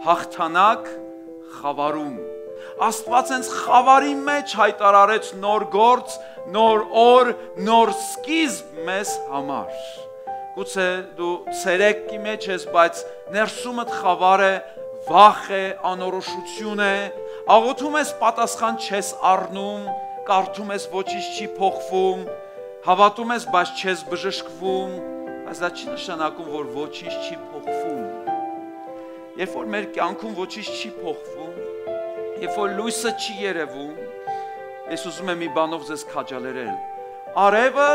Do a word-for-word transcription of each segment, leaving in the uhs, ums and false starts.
հաղթանակ խավարում։ Աստված հենց խավարի մեջ հայտարարեց նոր գործ, նոր օր, նոր սկիզբ մեզ համար։ Գուցե դու ցերեկի մեջ ես, բայց ներսումդ խավար է, վախ է, անորոշություն է, աղոթում ես, պատասխան չես առնում, կարդում ես, ոչինչ չի փոխվում, հավատում ես, բայց չես բժշկվում, բայց դա չի նշանակում, որ ոչինչ չի փոխվում։ Երբ որ մեր կյանքում ոչինչ չի փոխվում, երբ որ լույսը չի երևում, ես ուզում եմ մի բանով ձեզ քաջալերել։ Արևը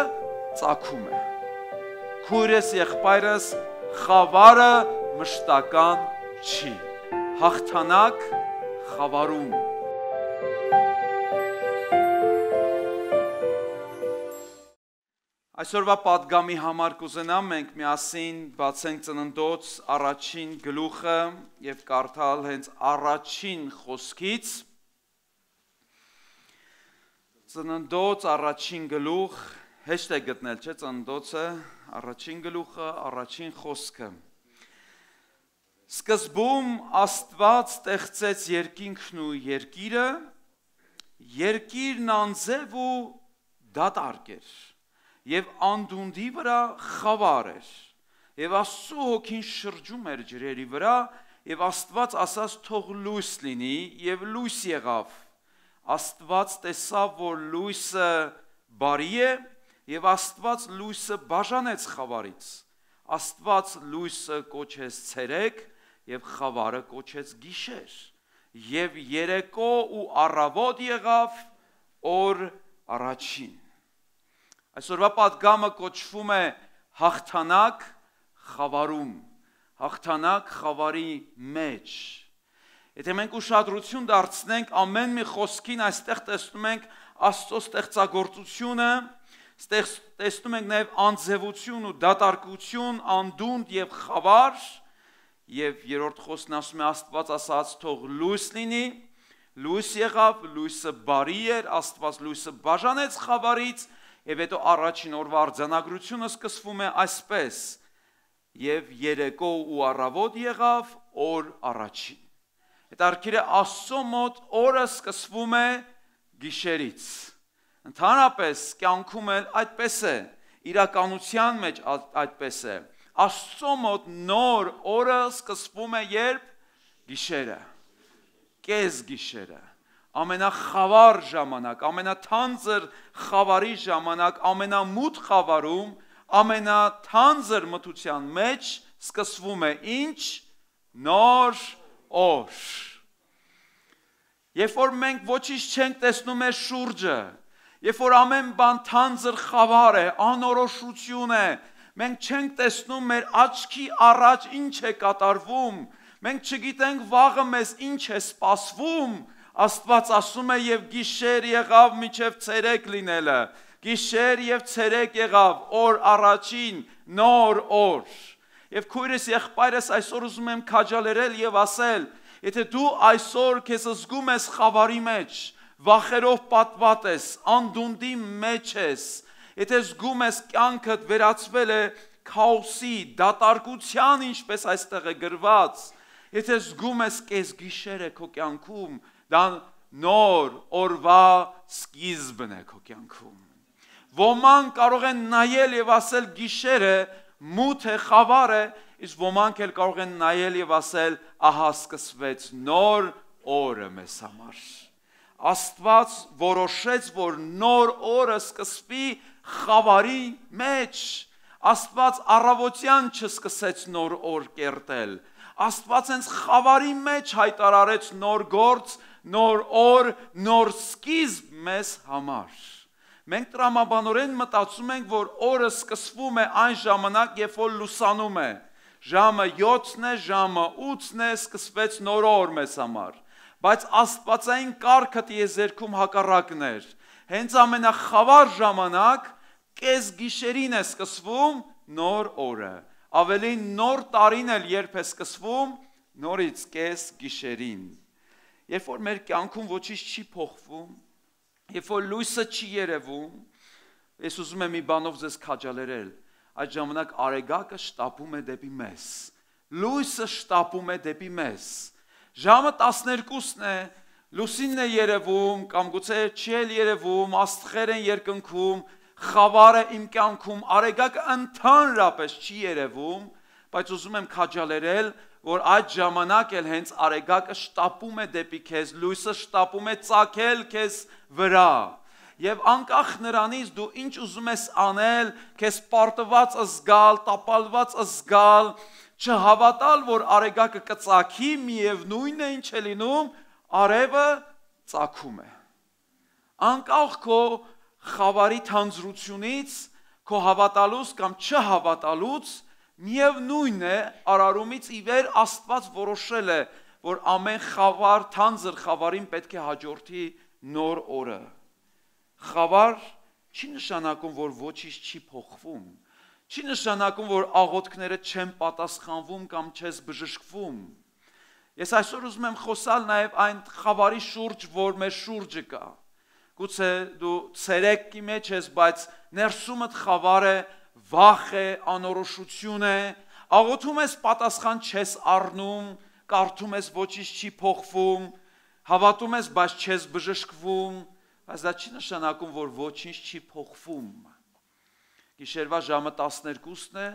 ծագում է։ Քույրս, եղբայրս, խավարը մշտական չի։ Հաղթանակ խավարում։ Այսօրվա պատգամի համար կուզենամ մենք միասին բացենք Ծննդոց առաջին գլուխը եւ կարդալ հենց առաջին խոսքից։ Ծննդոց առաջին գլուխ, հեշտ է գտնել, չէ՞, Ծննդոցը, առաջին գլուխը, առաջին խոսքը։ Սկզբում Աստված ստեղծեց երկինքն ու երկիրը, երկիրն անձև ու դատարկ էր, եւ անդունդի վրա խավար էր, եւ Աստծո հոգին շրջում էր ջրերի վրա, եւ Աստված ասաց թող լույս լինի, եւ լույս եղավ։ Աստված տեսավ, որ լույսը բարի է, եւ Աստված լույսը բաժանեց խավարից։ Աստված լույսը կոչեց ցերեկ, եւ խավարը կոչեց գիշեր, եւ երեկո ու առավոտ եղավ օր առաջին։ Այսօրվա պատգամը կոչվում է հաղթանակ խավարում, հաղթանակ խավարի մեջ։ Եթե մենք ուշադրություն դարձնենք ամեն մի խոսքին, այստեղ տեսնում ենք Աստծո ստեղծագործությունը, տեսնում ենք նաև անձևություն ու դատարկություն, անդունդ եւ խավար, եւ երրորդ խոսքն ասում է Աստված ասաց թող լույս լինի, լույս եղավ, լույսը բարի էր, Աստված լույսը բաժանեց խավարից, եւ հետո առաջին օրվա արձանագրությունը սկսվում է այսպես. եւ երեկո ու առավոտ եղավ օր առաջին։ Հետարքիր է Աստծո մոտ օրը սկսվում է գիշերից։ Ընդհանրապես կյանքում էլ այդպես է, իրականության մեջ այդպես է։ Աստծո մոտ նոր օրը սկսվում է երբ գիշերը, կես գիշերը, ամենախավար ժամանակ, ամենաթանձր խավարի ժամանակ, ամենամութ խավարում, ամենաթանձր մթության մեջ սկսվում է ինչ? Նոր օր։ Երբ որ մենք ոչինչ չենք տեսնում մեր շուրջը, երբ որ ամեն բան թանձր խավար է, անորոշություն է, մենք չենք տեսնում մեր աչքի առաջ ինչ է կատարվում, մենք չգիտենք վաղը մեզ ինչ է սպասվում, Աստված ասում է եւ գիշեր եղավ մինչեւ ցերեկ լինելը, գիշեր եւ ցերեկ եղավ օր առաջին, նոր օր։ Եվ քույրս եղբայրս այսօր ուզում եմ քաջալերել եւ ասել, եթե դու այսօր քեզ զգում ես խավարի մեջ, վախերով պատված ես, անդունդի մեջ ես, եթե զգում ես կյանքդ վերածվել է քաոսի, դատարկության, ինչպես այստեղ է գրված, եթե զգում ես կես գիշեր է քո կյանքում, դա նոր օրվա սկիզբն է քո կյանքում։ Ոմանք կարող են նայել եւ ասել գիշերը մութ է, խավար է, իսկ ոմանք էլ կարող են նայել եւ ասել ահա սկսվեց նոր օրը մեզ համար։ Աստված որոշեց, որ նոր օրը սկսվի խավարի մեջ։ Աստված առավոտյան չսկսեց նոր օր կերտել։ Աստված հենց խավարի մեջ հայտարարեց նոր գործ, նոր օր, նոր սկիզբ մեզ համար։ Մենք տրամաբանորեն մտածում ենք, որ օրը սկսվում է այն ժամանակ, երբ որ լուսանում է։ Ժամը յոթն է, ժամը ութն է, սկսվեց նոր օր մեզ համար։ Բայց աստվածային կարգը տիեզերքում հակառակն էր։ Հենց ամենախավար ժամանակ կես գիշերին է սկսվում նոր օրը։ Ավելին նոր տարին էլ երբ է սկսվում, նորից կես գիշերին։ Երբ որ մեր կյանքում ոչինչ չի փոխվում, երբ որ լույսը չի երևում, ես ուզում եմ մի բանով ձեզ քաջալերել, այդ ժամանակ արեգակը շտապում է դեպի մեզ, լույսը շտապում է դեպի մեզ, Ժամը տասներկուսն է, լուսինն է երևում, կամ գուցե չի էլ երևում, աստղեր են երկնքում, խավարը իմ կյանքում, արեգակը ընդհանրապես չի երևում, բայց ուզում եմ քաջալերել, որ այդ ժամանակ էլ հենց արեգակը շտապում է դեպի քեզ, լույսը շտապում է ծագել քեզ վրա։ Եվ անկախ նրանից դու ինչ ուզում ես անել, քեզ պարտված զգալ, տապալված զգալ, չհավատալ, որ արեգակը կծագի, միևնույնն է ինչ է լինում, արևը ծագում է։ Անկախ քո խավարի թանձրությունից, քո հավատալուց կամ չհավատալուց, միևնույն է, արարումից ի վեր Աստված որոշել է, որ ամեն խավար, թանձր խավարին պետք է հաջորդի նոր օրը։ Խավար չի նշանակում, որ ոչինչ չի փոխվում, չի նշանակում, որ աղոթքները չեն պատասխանվում կամ չես բժշկվում։ Ես այսօր ուզում եմ խոսալ նաև այն խավարի շուրջ, որ մեր շուրջը կա։ Գուցե դու ցերեկի մեջ ես, բայց ներսումդ խավար է, վախ է, անորոշություն է, աղոթում ես, պատասխան չես առնում, կարդում ես, ոչինչ չի փոխվում, հավատում ես, բայց չես բժշկվում, բայց դա չի նշանակում, որ ոչինչ չի փոխվում։ Գիշերվա ժամը տասներկուսն է,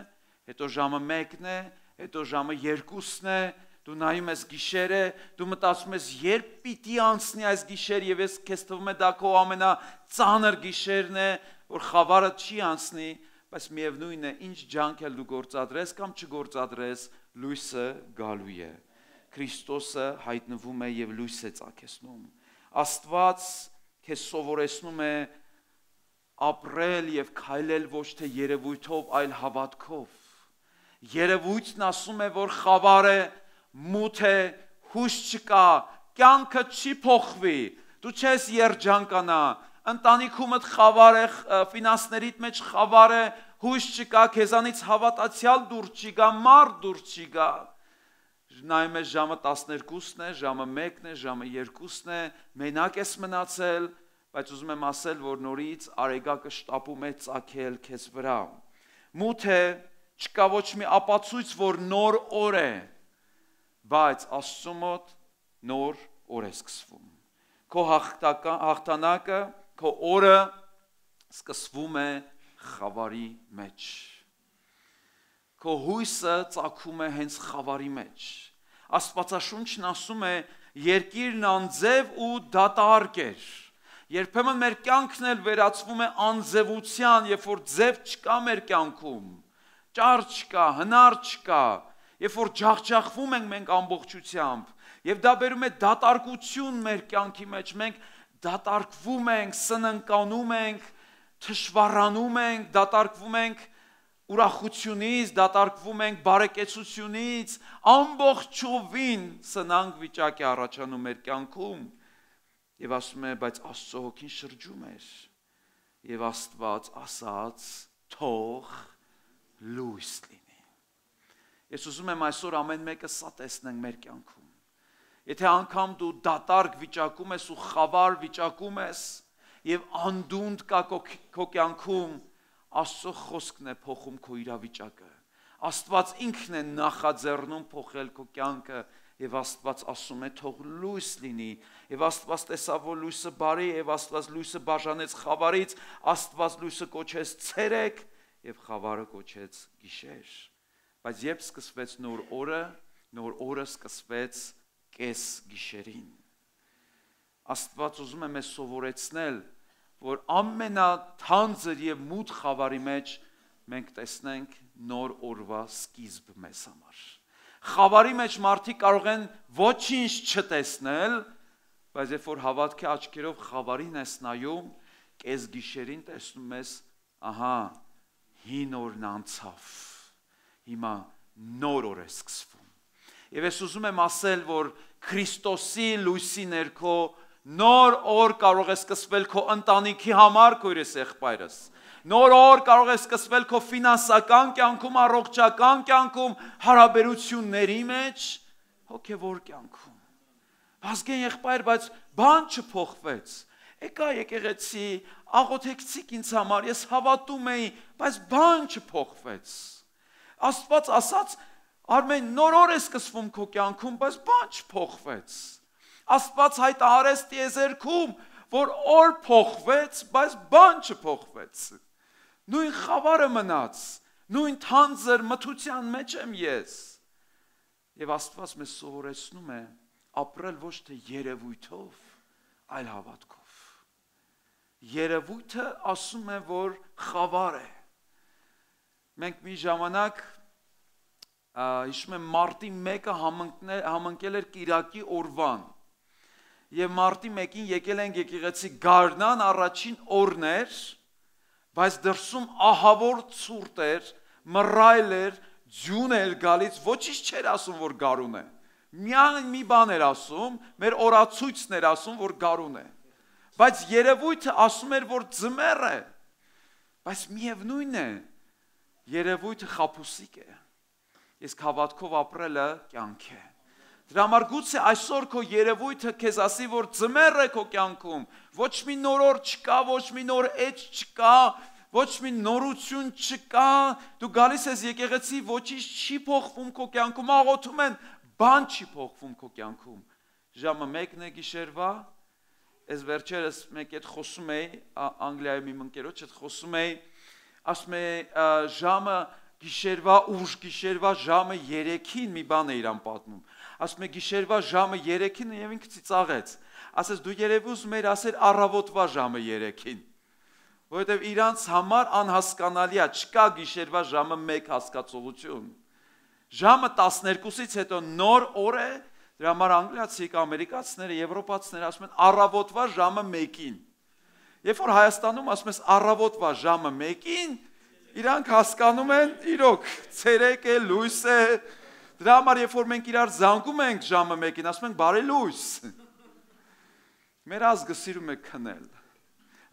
հետո ժամը մեկն է, հետո ժամը երկուսն է, դու նայում ես գիշերը, դու մտածում ես, երբ պիտի անցնի այս գիշեր, եւ ես քեզ թվում է դա քո ամենածանր գիշերն է, որ խավարը չի անցնի, բայց միևնույնն է, ինչ ջանք էլ դու գործադրես կամ չգործադրես, լույսը գալու է։ Քրիստոսը հայտնվում է եւ լույս է ծագեցնում։ Աստված քեզ սովորեցնում է ապրել եւ քայլել ոչ թե երևույթով, այլ հավատքով։ Երևույթն ասում է, որ խավար է, մութ է, հույս չկա, կյանքը չի փոխվի, դու չես երջանկանա, ընտանիքումդ խավար է, ֆինանսներիդ մեջ խավար է, հույս չկա, քեզանից հավատացյալ դուր չի գա, մարդ դուր չի գա։ Նայում ես ժամը տասներկուսն է, ժամը մեկն է, ժամը երկուսն է, մենակ ես մնացել, բայց ուզում եմ ասել, որ նորից արեգակը շտապում է ծագել քեզ վրա։ Մութ է, չկա ոչ մի ապացույց, որ նոր օր է, բայց Աստծո մոտ նոր օր է սկսվում։ Քո հաղթանակը, քո օրը սկսվում է խավարի մեջ։ Քո հույսը ծագում է հենց խավարի մեջ։ Աստվածաշունչն ասում է, երկիրն անձև ու դատարկ էր։ Երբեմն մեր կյանքն էլ վերածվում է անձևության, երբ որ ձև չկա մեր կյանքում, ճար չկա, հնար չկա, երբ որ ջախջախվում ենք մենք ամբողջությամբ, եւ դա բերում է դատարկություն մեր կյանքի մեջ, մենք դատարկվում ենք, սնանկանում ենք, թշվառանում ենք, դատարկվում ենք ուրախությունից, դատարկվում ենք բարեկեցությունից, ամբողջովին սնանկ վիճակ է առաջանում մեր կյանքում, եւ ասում է, բայց Աստծո հոգին շրջում էր, եւ Աստված ասաց, թող լույս լինի։ Ես ուզում եմ այսօր ամեն մեկը սա տեսնենք մեր կյանքում։ Եթե անգամ դու դատարկ վիճակում ես ու խավար վիճակում ես եւ անդունդ կա քո կյանքում, Աստծո խոսքն է փոխում քո իրավիճակը։ Աստված ինքն է նախաձեռնում փոխել քո կյանքը եւ Աստված ասում է թող լույս լինի եւ Աստված տեսավ որ լույսը բարի եւ Աստված լույսը բաժանեց խավարից, Աստված լույսը կոչեց ցերեկ եւ խավարը կոչեց գիշեր։ Բայց երբ սկսվեց նոր օրը, նոր օրը սկսվեց կես գիշերին։ Աստված ուզում է մեզ սովորեցնել, որ ամենաթանձր եւ մութ խավարի մեջ մենք տեսնենք նոր օրվա սկիզբ մեզ համար։ Խավարի մեջ մարդիկ կարող են ոչինչ չտեսնել, բայց երբ որ հավատքի աչքերով խավարին ես նայում, կես գիշերին տեսնում ես, ահա, հին օրն անցավ, հիմա նոր օր է սկսվում։ Եվ ես ուզում եմ ասել, որ Քրիստոսի լույսի ներքո նոր օր կարող է սկսվել քո ընտանիքի համար, քո երեխայերս։ Նոր օր կարող է սկսվել քո ֆինանսական կյանքում, առողջական կյանքում, հարաբերությունների մեջ, հոգևոր կյանքում։ Բազգեն եղբայր, բայց բան չփոխվեց։ Եկա եկեղեցի, աղոթեցիք ինձ համար, ես հավատում էի, բայց բան չփոխվեց։ Աստված ասաց, Արմեն նոր օր է սկսվում քո կյանքում, բայց բան չփոխվեց։ Աստված հայտարարեց տիեզերքում, որ օր փոխվեց, բայց բան չփոխվեց։ Նույն խավարը մնաց, նույն թանձր մթության մեջ եմ ես։ Եվ Աստված մեզ սովորեցնում է ապրել ոչ թե երևույթով, այլ հավատքով։ Երևույթը ասում է, որ խավար է։ Մենք մի ժամանակ հիշում եմ մարտի մեկը համընկել էր կիրակի օրվան։ Եվ մարտի մեկին եկել ենք եկեղեցի գարնան, առաջին օրն էր, բայց դրսում ահավոր ցուրտ էր, մռայլ էր, ձյուն էր գալիս, ոչինչ չէր ասում, որ գարուն է։ Միայն մի բան էր ասում, մեր օրացույցն էր ասում, որ գարուն է։ Բայց երևույթը ասում էր, որ ձմեռ է։ Բայց միևնույն է, երևույթը խաբուսիկ է։ Իսկ հավատքով ապրելը կյանք է։ Դրա համար գուցե այսօր քո երևույթը քեզ ասի, որ ձմեռ է քո կյանքում, ոչ մի նոր օր չկա, ոչ մի նոր էջ չկա, ոչ մի նորություն չկա, դու գալիս ես եկեղեցի, ոչինչ չի փոխվում քո կյանքում, աղոթում են, բան չի փոխվում քո կյանքում։ Ժամը մեկն է գիշերվա, ես վերջերս մեկ հետ խոսում էի, Անգլիայում իմ ընկերոջ հետ խոսում էի, ասում է ժամը գիշերվա ուշ գիշերվա ժամը երեքին մի բան է իրան պատմում։ Ասում է գիշերվա ժամը երեքին եւ ինքը ծիծաղեց։ Ասես դու երևի ուզում ես ասել առավոտվա ժամը երեքին։ Որովհետեւ իրանց համար անհասկանալի է, չկա գիշերվա ժամը մեկ հասկացողություն։ Ժամը տասներկուսից հետո նոր օր է, դրա համար անգլիացիք, ամերիկացիները, եվրոպացիները ասում են առավոտվա ժամը մեկին։ Երբ որ Հայաստանում ասում ես առավոտվա ժամը մեկին, իրանք հասկանում են, իրոք, ցերեկ է, լույս է։ Դրա համար երբ որ մենք իրար զանգում ենք ժամը մեկին, ասում ենք բարի լույս։ Մեր ազգը սիրում է քնել։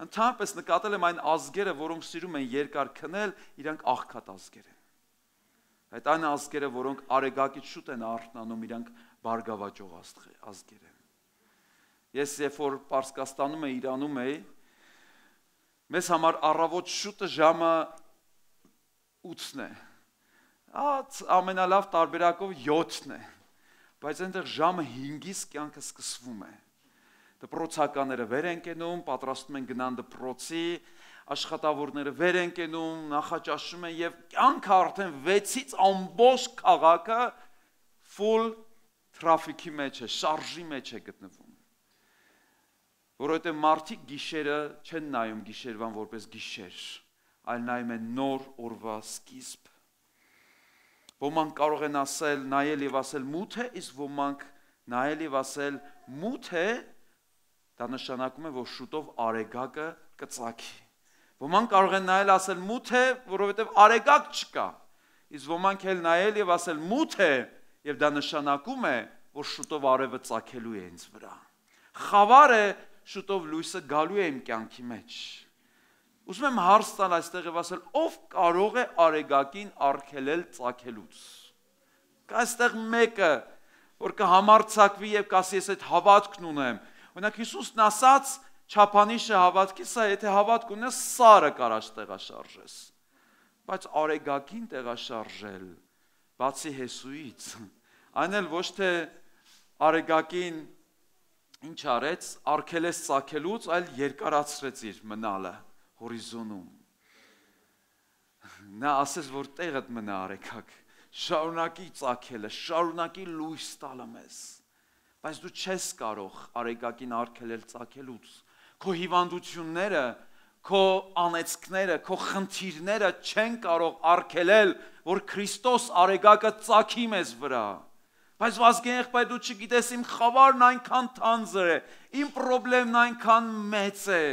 Ընդհանրապես նկատել եմ այն ազգերը, որոնք սիրում են երկար քնել, իրանք աղքատ ազգեր են։ Այդ այն ազգերը, որոնք արեգակից շուտ են արթնանում, իրանք բարգավաճող ազգեր են։ Ես երբ որ Պարսկաստանում էի, Իրանում էի, մեզ համար առավոտ շուտը ժամը ութն է, ամենալավ տարբերակով յոթն է, բայց այնտեղ ժամը հինգից կյանքը սկսվում է, դպրոցականները վեր են կենում, պատրաստում են գնան դպրոցի, աշխատավորները վեր են կենում, նախաճաշում են և կյանքը արդեն վեցից ամբողջ քաղաքը full traffic-ի մեջ է, շարժի մեջ է գտնվում, որովհետև մարդիկ գիշերը չեն նայում գիշերվան որպես գիշեր, այլ նայում են նոր օրվա սկիզբ։ Ոմանք կարող են ասել, նայել և ասել մութ է, իսկ ոմանք նայել և ասել մութ է, դա նշանակում է, որ շուտով արեգակը կծագի։ Ոմանք կարող են նայել ասել մութ է, որովհետև արեգակ չկա, իսկ ոմանք էլ նայել և ասել մութ է, և դա նշանակում է, որ շուտով արևը ծագելու է ինձ վրա։ Խավար է, շուտով լույսը գալու է իմ կյանքի մեջ։ Ուզում եմ հարց տալ այստեղ և ասել, ով կարող է արեգակին արգելել ծագելուց։ Կա այստեղ մեկը, որ կհամարձակվի և կասի ես այդ հավատքն ունեմ։ Օրինակ Հիսուսն ասաց, չափանիշը հավատքի սա, եթե հավատք ունես, սարը կարաս տեղաշարժես։ Բայց արեգակին տեղաշարժել, բացի Հեսուից, այն էլ ոչ թե արեգակին ինչ արեց, արգելեց ծագելուց, այլ երկարացրեց իր մնալը հորիզոնում։ Նա ասեց, որ տեղդ մնա արեգակ, շարունակի ծագելը, շարունակի լույս տալը մեզ, բայց դու չես կարող արեգակին արգելել ծագելուց, քո հիվանդությունները, քո անեծքները, քո խնդիրները չեն կարող արգելել, որ Քրիստոս արեգակը ծագի մեզ վրա։ Բայց վազգեն եղբայր դու չգիտես, իմ խավարն այնքան թանձր է, իմ պրոբլեմն այնքան մեծ է,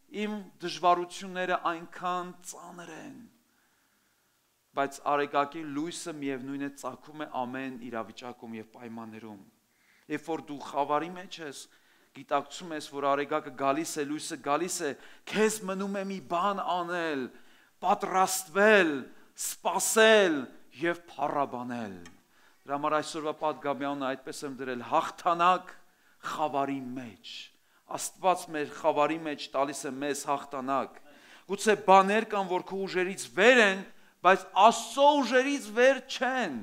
իմ դժվարությունները այնքան ծանր են։ Բայց արեգակի լույսը միևնույն է ծագում է ամեն իրավիճակում և պայմաններում։ Երբ որ դու խավարի մեջ ես, գիտակցում ես, որ արեգակը գալիս է, լույսը գալիս է, քեզ մնում է մի բան անել, պատրաստվել, սպասել և փառաբանել։ Դրա համար այսօրվա պատգամյանը այդպես եմ դրել, հաղթանակ խավարի մեջ։ Աստված մեր խավարի մեջ տալիս է մեզ հաղթանակ։ Գուցե բաներ կան, որ քո ուժերից վեր են, բայց Աստծո ուժերից վեր չեն։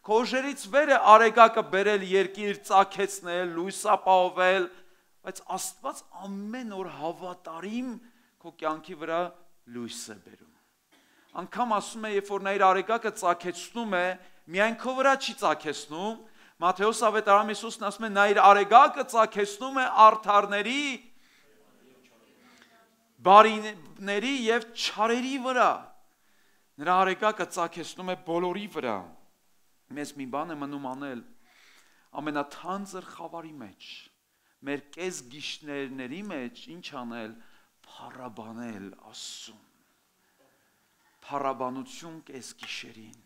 Քո ուժերից վեր է արեգակը բերել երկիր, ծագեցնել, լույս ապահովել, բայց Աստված ամեն օր հավատարիմ քո կյանքի վրա լույս է բերում։ Անկամ ասում է, երբ որ նա իր արեգակը ծագեցնում է, միայն քո վրա չի ծագեցնում, Մատթեոս ավետարանում Հիսուսն ասում է, նա իր արեգակը ծագեցնում է արդարների, բարիների եւ չարերի վրա։ Նրա արեգակը ծագեցնում է բոլորի վրա։ Մեզ մի բան է մնում անել ամենաթանձր խավարի մեջ, մեր կես գիշներների մեջ ինչ անել, փառաբանել Աստծուն, փառաբանություն կես գիշերին։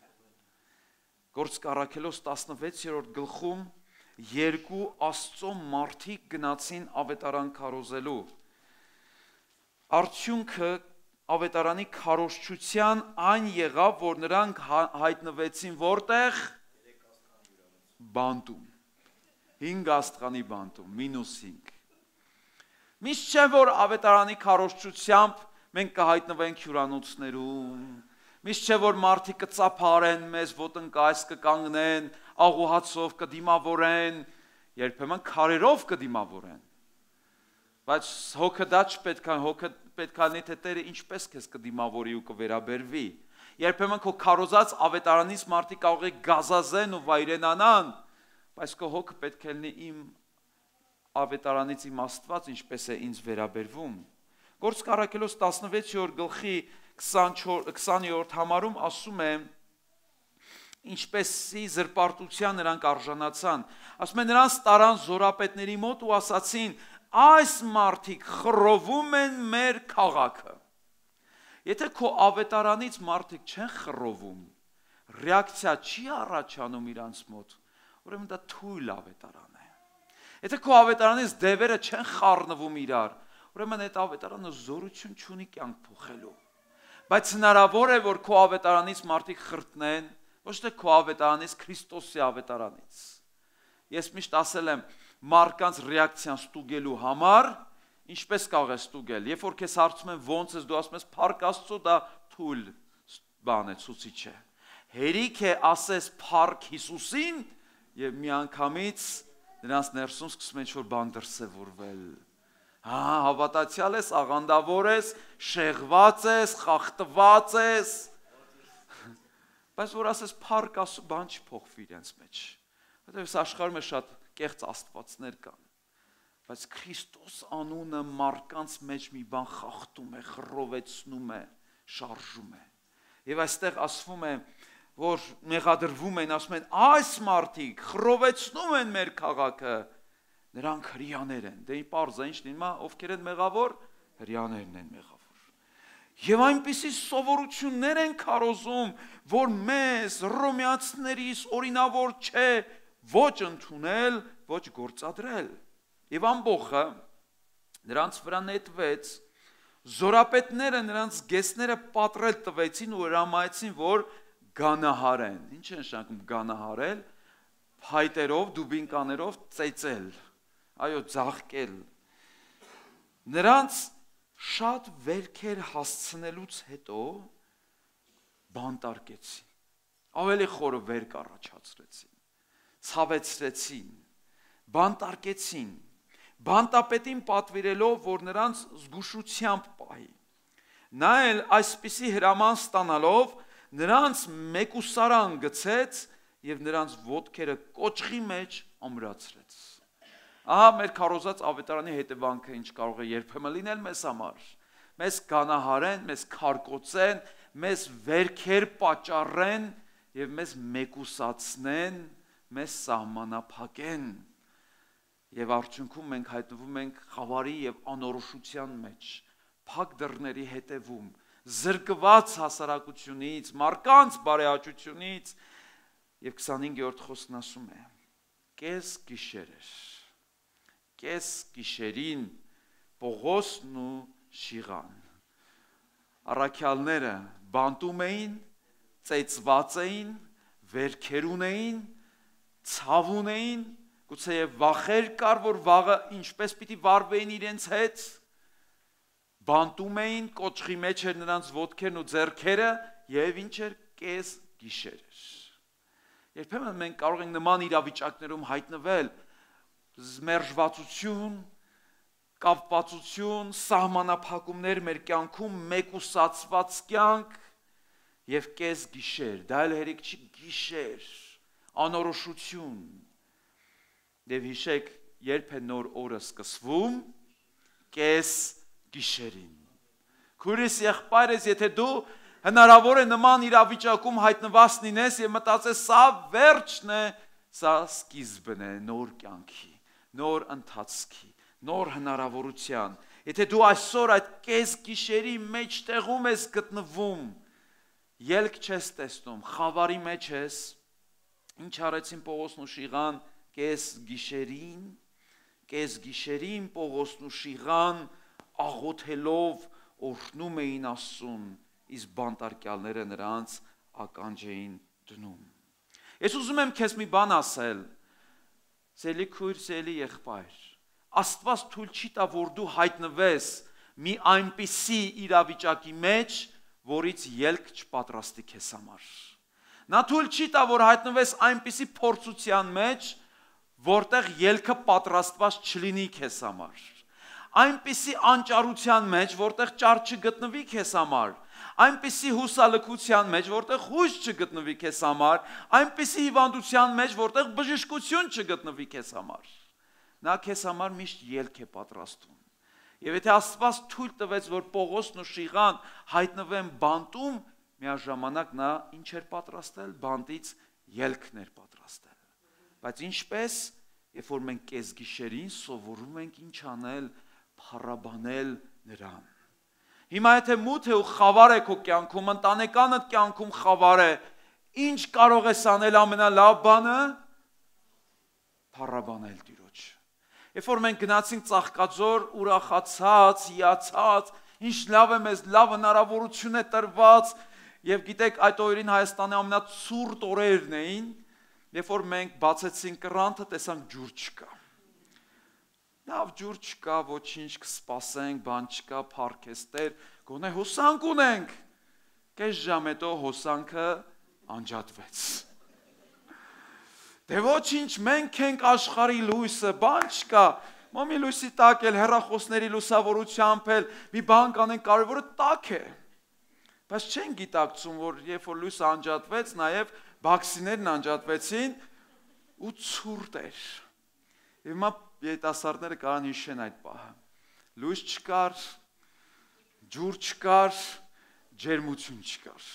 Գործք Առաքելոս տասնվեցերորդ գլխում երկու Աստծո մարդիկ գնացին ավետարան քարոզելու։ Արդյունքը ավետարանի քարոզչության այն եղավ, որ նրանք հայտնվեցին որտեղ բանտում, հինգ աստղանի բանտում, մինուս հինգ։ Միշտ չէ, որ ավետարանի քարոզչությամբ մենք կհայտնվենք հյուրանոցներում, միշտ չէ, որ մարդիկ կծափարեն մեզ, ոտնկայս կկանգնեն, աղոհացով կդիմավորեն, երբեմն քարերով կդիմավորեն։ Բայց հոգը դա չպետք է, հոգը պետք է լինի, թե Տերը ինչպես քեզ կդիմավորի ու կվերաբերվի։ Երբեմն քո քարոզած ավետարանից մարդիկ կարող է գազազեն ու վայրենանան, բայց քո հոգը պետք է լինի իմ ավետարանից իմ Աստված ինչպես է ինձ վերաբերվում։ Գործք Առաքելոս տասնվեցերորդ գլխի քսաներորդ համարում ասում է, ինչպեսի զրպարտության նրանք արժանացան։ Ասում է, նրանց տարան զորապետների մոտ ու ասացին, այս մարդիկ խռովում են մեր քաղաքը։ Եթե քո ավետարանից մարդիկ չեն խռովում, ռեակցիա չի առաջանում իրանց մոտ, ուրեմն դա թույլ ավետարան է։ Եթե քո ավետարանից դևերը չեն խառնվում իրար, ուրեմն այդ ավետարանը զորություն չունի կյանք փոխելու։ Բայց հնարավոր է, որ քո ավետարանից մարդիկ խրտնեն, ոչ թե քո ավետարանից, Քրիստոսի ավետարանից։ Ես միշտ ասել եմ, մարդկանց ռեակցիան ստուգելու համար, ինչպես կարող է ստուգել, երբ որ քեզ հարցում են ոնց ես, դու ասում ես փառք Աստծո, դա թույլ բան է, ցուցիչ է։ Հերիք է ասես փառք Հիսուսին եւ միանգամից նրանց ներսում սկսում են ինչ-որ բան դրսևորվել։ Հա, հավատացյալ ես, աղանդավոր ես, շեղված ես, խախտված ես։ Բայց որ ասես փառք Աստծո, բան չփոխվի իրենց մեջ։ Որտեղ աշխարհում է շատ կեղծ աստվածներ կան, բայց Քրիստոս անունը մարդկանց մեջ մի բան խախտում է, խռովեցնում է, շարժում է։ Եվ այստեղ ասվում է, որ մեղադրվում են, ասում են, այս մարդիկ խռովեցնում են մեր քաղաքը, նրանք հրեաներ են։ Դե պարզ է, ինչ լինում է, ովքեր են մեղավոր, հրեաներն են մեղավոր։ Եվ այնպիսի սովորություններ են քարոզում, որ մեզ հռոմեացիներից օրինավոր չէ ոչ ընդունել, ոչ գործադրել։ Եվ ամբողը նրանց վրա նետվեց, զորապետները նրանց գեսները պատրել տվեցին ու հրամայեցին, որ գանահարեն։ Ինչ է նշանակում գանահարել, փայտերով, դուբինկաներով ծեծել, այո, ձաղկել։ Նրանց շատ վերքեր հասցնելուց հետո բանտարկեցին, ավելի խորը վերք առաջացրեցին, ցավեցրեցին, բանտարկեցին, բանտապետին պատվիրելով, որ նրանց զգուշությամբ պահի։ Նա էլ այսպիսի հրաման ստանալով նրանց մեկուսարան գցեց եւ նրանց ոտքերը կոճղի մեջ ամրացրեց։ Ահա մեր քարոզած ավետարանի հետևանքը ինչ կարող է երբեմն լինել մեզ համար։ Մեզ կանահարեն, մեզ քարկոծեն, մեզ վերքեր պատճառեն եւ մեզ մեկուսացնեն, մեզ սահմանափակեն։ Եվ արդյունքում մենք հայտնվում ենք խավարի եւ անորոշության մեջ, փակ դռների հետևում, զրկված հասարակությունից, մարդկանց բարեհաճությունից, եւ քսանհինգերորդ խոսքն ասում է. կես գիշեր, կես գիշերին Պողոսն ու Շիղան առաքյալները բանտում էին, ծեծված էին, վերքեր ունեին, ցավ ունեին, գուցե վախեր կար, որ վաղը ինչպես պիտի վարվեին իրենց հետ, բանտում էին, կոճղի մեջ էր նրանց ոտքերն ու ձեռքերը, եւ ինչ էր կես գիշեր էր։ Երբեմն մենք կարող ենք նման իրավիճակներում հայտնվել մերժվածություն, կապվածություն, սահմանափակումներ մեր կյանքում, մեկուսացված կյանք եւ կես գիշեր, դա էլ հերիք չի գիշեր, անորոշություն։ Եվ հիշեք, երբ է նոր օրը սկսվում, կես գիշերին։ Քույրս եղբայրս, եթե դու հնարավոր է նման իրավիճակում հայտնված լինես եւ մտածես, սա վերջն է, սա սկիզբն է նոր կյանքի, նոր ընթացքի, նոր հնարավորության։ Եթե դու այսօր այդ կես գիշերի մեջտեղում ես գտնվում, ելք չես տեսնում, խավարի մեջ ես, ինչ արեցին Պողոսն ու Շիղան կես գիշերին, կես գիշերին Պողոսն ու Շիղան աղոթելով օրհնում էին Աստծուն, իսկ բանտարկյալները նրանց ականջ էին դնում։ Ես ուզում եմ քեզ մի բան ասել, սիրելի քույր, սիրելի եղբայր, Աստված թույլ չի տա, որ դու հայտնվես մի այնպիսի իրավիճակի մեջ, որից ելք չպատրաստի քեզ համար։ Նա թույլ չի տա, որ հայտնվես այնպիսի փորձության մեջ, որտեղ ելքը պատրաստված չլինի քեզ համար։ Այնպիսի անճարության մեջ, որտեղ ճար չգտնվի քեզ համար, այնպիսի հուսալքության մեջ, որտեղ հույս չգտնվի քեզ համար, այնպիսի հիվանդության մեջ, որտեղ բժշկություն չգտնվի քեզ համար։ Նա քեզ համար միշտ ելք է պատրաստում։ Եվ եթե Աստված թույլ տվեց, որ Պողոսն ու Շիղան հայտնվեն բանտում, միաժամանակ նա ինչ էր պատրաստել, բանտից ելքն էր պատրաստել։ Բայց ինչպես, երբ որ մենք կեսգիշերին սովորում ենք ինչ անել, փառաբանել նրան։ Հիմա եթե մութ է ու խավար է քո կյանքում, ընտանեկանդ կյանքում խավար է, ինչ կարող ես անել ամենալավ բանը, փառաբանել Տիրոջ։ Երբ որ մենք գնացինք Ծաղկաձոր, ուրախացած, հիացած, ինչ լավ է մեզ, լավ հնարավորություն է տրված, եւ գիտեք, այդ օրերին Հայաստանի ամենացուրտ օրերն էին, երբ որ մենք բացեցինք կռանթը, տեսանք ջուր չկա։ Լավ ջուր չկա, ոչինչ կսպասենք, բան չկա, փառքեստեր, գոնե հոսանք ունենք։ Կես ժամ հետո հոսանքը անջատվեց։ Դե ոչինչ, մենք ենք աշխարհի լույսը, բան չկա։ Մոմի լույսի տակ էլ հեռախոսների լուսավորությամբ էլ մի բան կանենք, կարևորը տակ է։ Բայց չեն գիտակցում, որ երբ որ լույսը անջատվեց, նաև բաքսիներն անջատվեցին ու ցուրտ էր։ Եվ հիմա երիտասարդները կարան հիշեն այդ պահը։ Լույս չկար, ջուր չկար, ջերմություն չկար։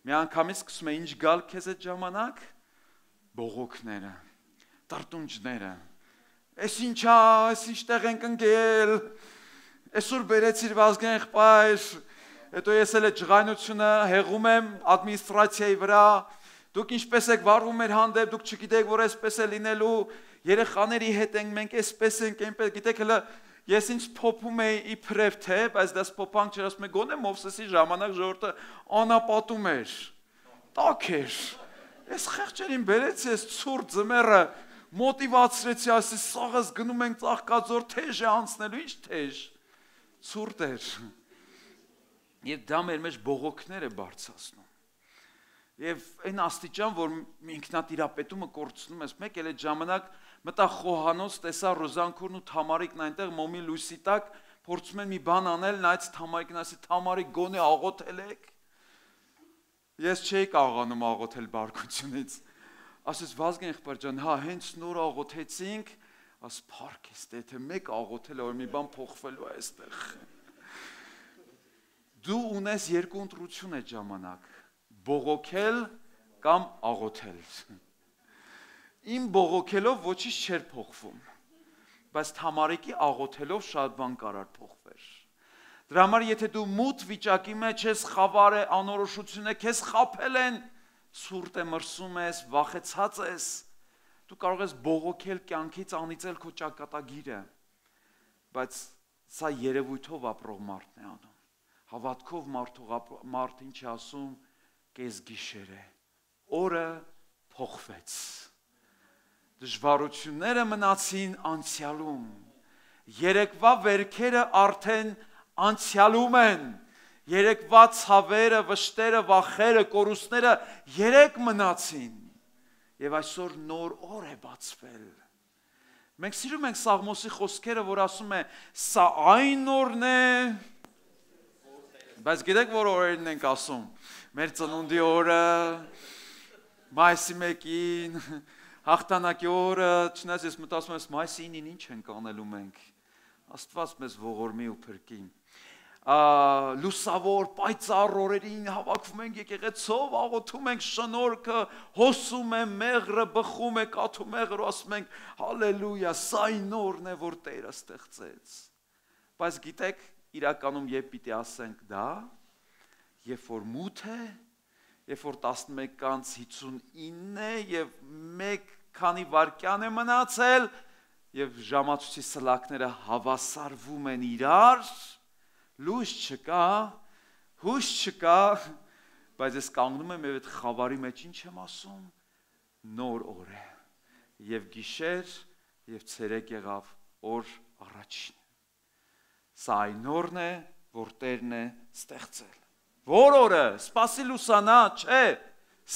Մի անգամից սկսում է ինչ գալ քեզ այդ ժամանակ, բողոքները, տրտունջները։ Էս ինչա, էս ինչտեղ ենք ընկել, այսօր բերեցիր Վազգեն եղբայր, հետո ես էլ այդ ջղայնությունը հեղում եմ ադմինիստրացիայի վրա, դուք ինչպես եք վարվում մեր հանդեպ, դուք չգիտեք, որ այսպես է լինելու, երեխաների հետ ենք, մենք այսպես ենք, այնպես, գիտեք, հələ ես ինձ փոփում էի իբրև թե, բայց դες փոփանք չէր, ասում եմ, գոնե Մովսեսի ժամանակ ժողովուրդը անապատում էր, տաք էր, ես խեղճերին բերեցի, ես ցուրտ ձմեռը մոտիվացրեցի, ասի, սաղս գնում ենք Ծաղկաձոր, թեժ է անցնելու, ինչ թեժ, ցուրտ էր, եւ դա մեր մեջ բողոքներ է բարձրացնում։ Եվ այն աստիճան, որ ինքնատիրապետումը կորցնում ես, մեկ էլ այդ ժամանակ մտա խոհանոց, տեսա Ռոզանքուրն ու Թամարիկն այնտեղ մոմի լույսի տակ, փորձում են մի բան անել, նայեց Թամարիկն, ասի, Թամարիկ, գոնե աղոթել եք։ Ես չէի կարողանում աղոթել բարկությունից։ Ասես Վազգեն եղբայր ջան, հա, հենց նոր աղոթեցինք, աս փառքեստ, եթե մեկ աղոթել է, որ մի բան փոխվելու է այստեղ։ Դու ունես երկու ընտրություն այդ ժամանակ, բողոքել կամ աղոթել։ Իմ բողոքելով ոչինչ չէր փոխվում, բայց Թամարիկի աղոթելով շատ բան կարար փոխվեր։ Դրա համար եթե դու մութ վիճակի մեջ ես, խավար է, անորոշություն է, քեզ խաբել են, ցուրտ է, մրսում ես, վախեցած ես, դու կարող ես բողոքել կյանքից, անիծել քո ճակատագիրը, բայց սա երևույթով ապրող մարդն է անում։ Հավատքով մարդ ինչ է ասում, կեսգիշեր է, օրը փոխվեց, դժվարությունները մնացին անցյալում, երեկվա վերքերը արդեն անցյալում են, երեկվա ցավերը, վշտերը, վախերը, կորուստները երեք մնացին, եւ այսօր նոր օր է բացվել։ Մենք սիրում ենք Սաղմոսի խոսքերը, որ ասում է, սա այն օրն է, բայց գիտեք որ օրերն ենք ասում, մեր ծնունդի օրը, մայիսի մեկին, հաղթանակի օրը, չնայած ես մտածում եմ, մայիսի ինին ինչ ենք անելու մենք, Աստված մեզ ողորմի ու փրկի։ Լուսավոր պայծառ օրերին հավաքվում ենք եկեղեցով, աղոթում ենք շնորհքը, հոսում է մեղրը, բխում է կաթու մեղրը, ասում ենք հալելույա, սա այն օրն է, որ Տերը ստեղծեց։ Բայց գիտեք, իրականում երբ պիտի ասենք դա, երբ որ մութ է, երբ որ տասնմեկ հինգսունինն է եւ մեկ քանի վայրկյան է մնացել եւ ժամացույցի սլակները հավասարվում են իրար, լույս չկա, հույս չկա, բայց ես կանգնում եմ եւ այդ խավարի մեջ ինչ եմ ասում, նոր օր է եւ գիշեր եւ ցերեկ եղավ օր առաջին։ Սա այն օրն է, որ Տերն է ստեղծել։ Որ օրը, սպասի լուսանա, չէ,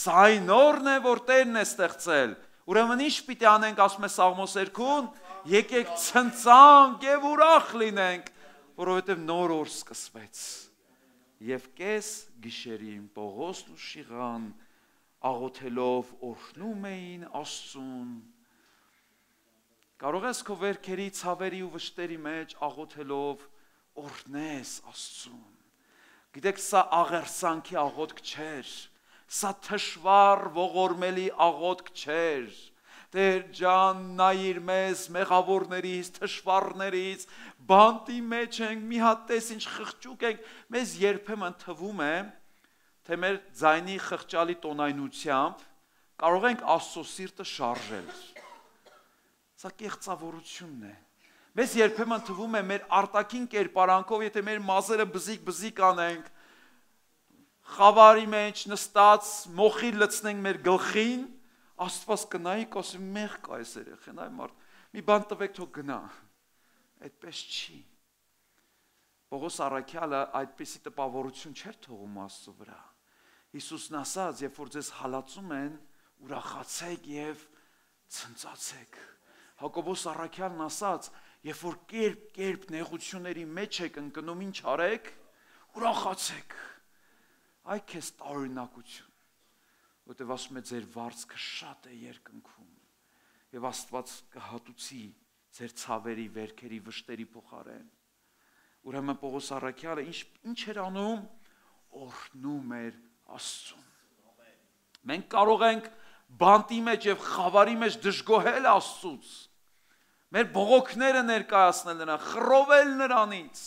սա այն օրն է, որ Տերն է ստեղծել։ Ուրեմն ինչ պիտի անենք, ասում է Սաղմոս երկում, եկեք ցնծանք եւ ուրախ լինենք, որովհետև նոր օր սկսվեց։ Եվ կես գիշերին Պողոսն ու Շիղան աղոթելով օրհնում էին Աստծուն։ Կարող ես քո վերքերի, ցավերի ու վշտերի մեջ աղոթելով օրհնես Աստծուն։ Գիտեք, սա աղերսանքի աղոթք չէր, սա թշվառ ողորմելի աղոթք չէր։ Տեր ջան, նայիր մեզ, մեղավորներից, թշվառներից, բանտի մեջ ենք, մի հատ տես ինչ խղճուկ ենք, մեզ երբեմն թվում է, թե մեր ձայնի խղճալի տոնայնությամբ կարող ենք Աստծո սիրտը շարժել։ Սա կեղծավորությունն է։ Մեզ երբեմն թվում է մեր արտաքին կերպարանքով, եթե մեր մազերը բզիկ-բզիկ անենք, խավարի մեջ նստած, մոխիր լցնենք մեր գլխին, Աստված կնայի, կասի մեղ կա այս երեխեն, այ մարդ, մի բան տվեք թող գնա, այդպես չի։ Պողոս առաքյալը այդպիսի տպավորություն չէր թողում Աստծո վրա։ Հիսուսն ասաց, երբ որ ձեզ հալածում են, ուրախացեք եւ ցնծացեք։ Հակոբոս առաքյալն ասաց, երբ որ կերպ-կերպ նեղությունների մեջ եք ընկնում, ինչ արեք, ուրախացեք։ Այ քեզ տարօրինակություն, որտեղ ասում է ձեր վարձքը շատ է երկնքում եւ Աստված կհատուցի ձեր ցավերի, վերքերի, վշտերի փոխարեն։ Ուրեմն Պողոս առաքյալը ինչ ինչ էր անում, օրհնում էր Աստծուն։ Մենք կարող ենք բանտի մեջ եւ խավարի մեջ դժգոհել Աստծուց, մեր բողոքները ներկայացնել նրան, խռովել նրանից։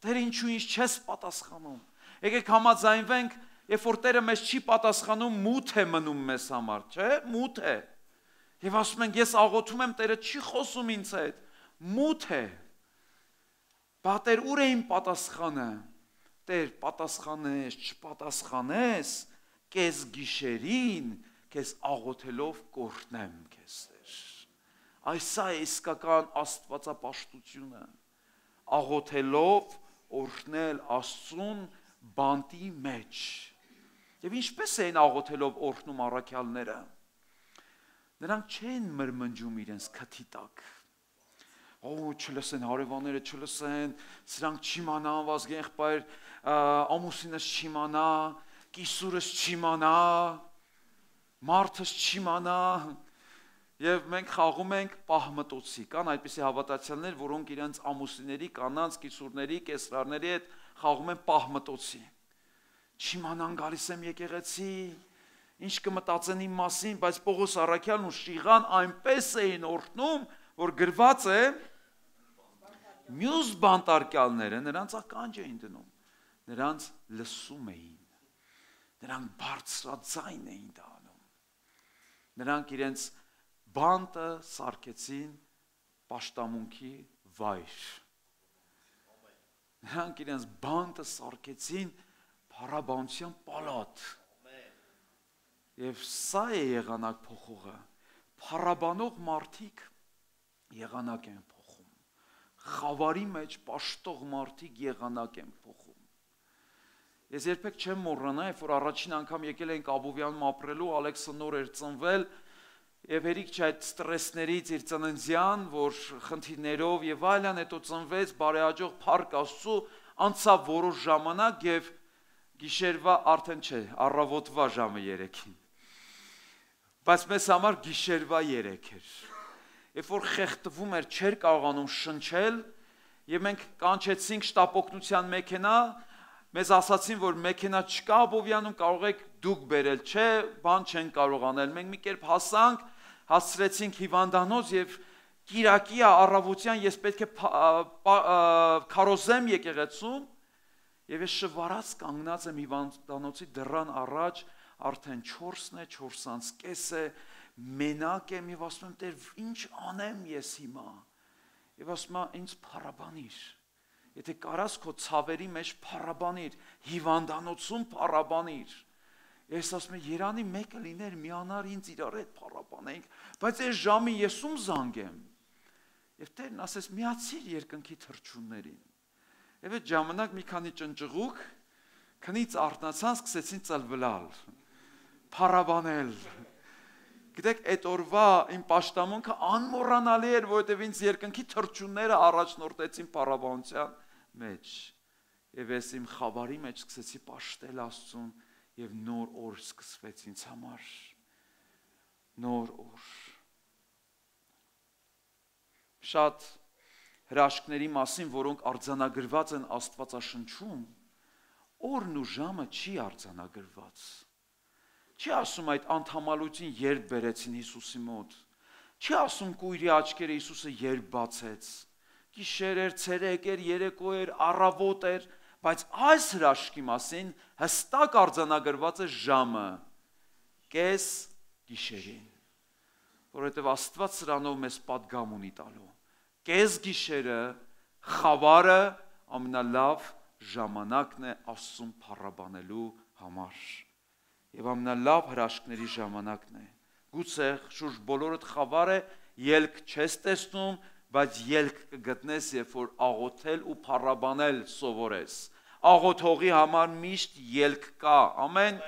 Տեր ինչու ինձ չես պատասխանում։ Եկեք համաձայնվենք, երբ որ Տերը մեզ չի պատասխանում, մութ է մնում մեզ համար, չէ՞, մութ է։ Եվ ասում ենք, ես աղոթում եմ, Տերը չի խոսում ինձ հետ, մութ է։ Բա Տեր ուր է իմ պատասխանը։ Տեր պատասխանես, չպատասխանես, կես գիշերին, քեզ աղոթելով կօրհնեմ քեզ, Տեր։ Այս է իսկական աստվածապաշտությունը։ Աղոթելով օրհնել Աստծուն բանտի մեջ։ Եվ ինչպես էին աղոթելով օրհնում առաքյալները։ Նրանք չեն մրմնջում իրենց քթի տակ։ Օ, չլսեն հարևանները, չլսեն, սրանք չիմանան, վազգեն եղբայր, ամուսինս չիմանա, կիսուրս չիմանա, մարդս չիմանա։ Եվ մենք խաղում ենք պահմտոցի, կան այդպիսի հավատացյալներ, որոնք իրենց ամուսինների, կանանց, կիսուրների, կեսրարների հետ խաղում են պահմտոցի։ Չիմանան գալիս եմ եկեղեցի, ինչ կմտածեն իմ մասին, բայց Պողոս առաքյալն ու Շիղան այնպես էին օրհնում, որ գրված է մյուս բանտարկյալները նրանց ականջ էին դնում, նրանց լսում էին, նրանք բարձրաձայն էին դա անում, նրանք իրենց բանտը սարքեցին պաշտամունքի վայր, նրանք իրենց բանտը սարքեցին փառաբանության պալատ, եւ սա է եղանակ փոխողը, փառաբանող մարդիկ եղանակ են փոխում, խավարի մեջ պաշտող մարդիկ եղանակ են փոխում։ Ես երբեք չեմ մոռանա, երբ որ առաջին անգամ եկել ենք Աբովյանում ապրելու, Ալեքսը նոր էր ծնվել, Եվ հերիք չէ այդ ստրեսներից իր ծննդյան, որ խնդիրներով եւ այլն, հետո ծնվեց բարեհաջող Փառք Աստծո, անցավ որոշ ժամանակ եւ գիշերվա արդեն չէ, առավոտվա ժամը երեքին։ Բայց մեզ համար գիշերվա երեք էր։ Երբ որ խեղդվում էր, չէր կարողանում շնչել, եւ մենք կանչեցինք շտապօգնության մեքենա, մեզ ասացին, որ մեքենա չկա Աբովյանում, կարող եք դուք բերել, չէ, բան չեն կարող անել։ Մենք մի կերպ հասանք, հասցրեցինք հիվանդանոց եւ Կիրակի առավոտյան ես պետք է քարոզեմ եկեղեցում եւ ես շվարած կանգնած եմ հիվանդանոցի դռան առաջ, արդեն չորսն է, չորսանց կես է, մենակ եմ եւ ասում եմ, Տեր, ինչ անեմ ես հիմա։ Եվ ասում եմ, ինձ փառաբանիր։ Եթե կարաս քո ցավերի մեջ փառաբանիր, հիվանդանոցում փառաբանիր։ Ես ասում եմ, Երանի մեկը լիներ, միանար ինձ իրար հետ փառաբանենք, բայց այս ժամի ես ում զանգեմ։ Եվ Տերն ասես, միացիր երկնքի թռչուններին։ Եվ այդ ժամանակ մի քանի ճնճղուկ քնից արթնացան, սկսեցին ծլվլալ, փառաբանել։ Գիտեք, այդ օրվա իմ պաշտամունքը անմոռանալի էր, որովհետև ինձ երկնքի թռչունները առաջնորդեցին փառաբանության մեջ։ Եվ ես իմ խավարի մեջ սկսեցի պաշտել Աստծուն եւ նոր օր սկսվեց ինձ համար։ Նոր օր։ Շատ հրաշքների մասին, որոնք արձանագրված են Աստվածաշնչում, օրն ու ժամը չի արձանագրված։ Չի ասում այդ անդամալություն երբ բերեցին Հիսուսի մոտ։ Չի ասում կույրի աչքերը Հիսուսը երբ բացեց։ Գիշեր էր, ցերեկ էր, երեկո էր, առավոտ էր, բայց այս հրաշքի մասին հստակ արձանագրված է ժամը՝ կես գիշերին։ Որովհետև Աստված սրանով մեզ պատգամ ունի տալու։ Կես գիշերը, խավարը ամենալավ ժամանակն է Աստծուն փառաբանելու համար։ Եվ ամենալավ հրաշքների ժամանակն է։ Գուցե շուրջ բոլորդ խավար է, ելք չես տեսնում, բայց ելք կգտնես, երբ որ աղոթել ու փառաբանել սովորես։ Աղոթողի համար միշտ ելք կա, ամեն,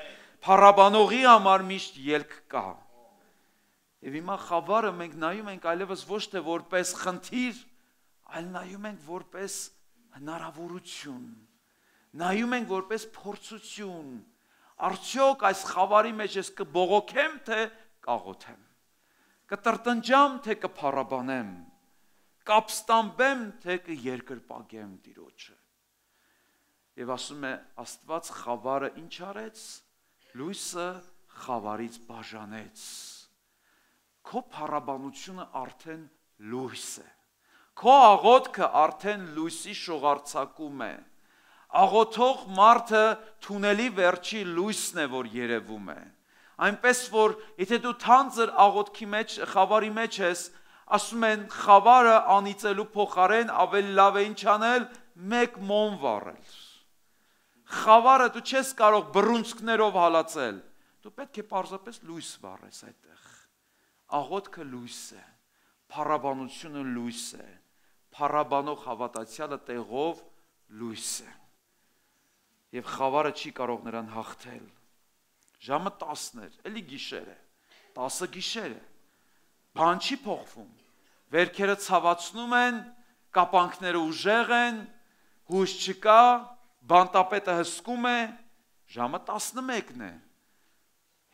փառաբանողի համար միշտ ելք կա։ Եվ հիմա խավարը մենք նայում ենք այլևս ոչ թե որպես խնդիր, այլ նայում ենք որպես հնարավորություն, նայում ենք որպես փորձություն։ Արդյոք այս խավարի մեջ ես կբողոքեմ, թե կաղոթեմ, կտրտնջամ, թե կփառաբանեմ, կապստամբեմ, թե կերկրպագեմ Տիրոջը։ Եվ ասում է Աստված խավարը ինչ արեց, լույսը խավարից բաժանեց։ Քո փառաբանությունը արդեն լույս է, քո աղոթքը արդեն լույսի շողարցակում է։ Աղոթող մարդը թունելի վերջի լույսն է, որ երևում է։ Այնպես որ եթե դու թանձր աղոթքի մեջ, խավարի մեջ ես, ասում են խավարը անիծելու փոխարեն ավելի լավ է ինչ անել, մեկ մոմ վառել։ Խավարը դու չես կարող բռունցքներով հալածել, դու պետք է պարզապես լույս վառես այդտեղ։ Աղոթքը լույս է, փառաբանությունը լույս է, փառաբանող հավատացյալը տեղով լույս է։ Եվ խավարը չի կարող նրան հաղթել։ Ժամը տասն էր, էլի գիշեր է, տասը գիշեր է, բան չի փոխվում, վերքերը ցավացնում են, կապանքները ուժեղ են, հույս չկա, բանտապետը հսկում է, ժամը տասնմեկն է,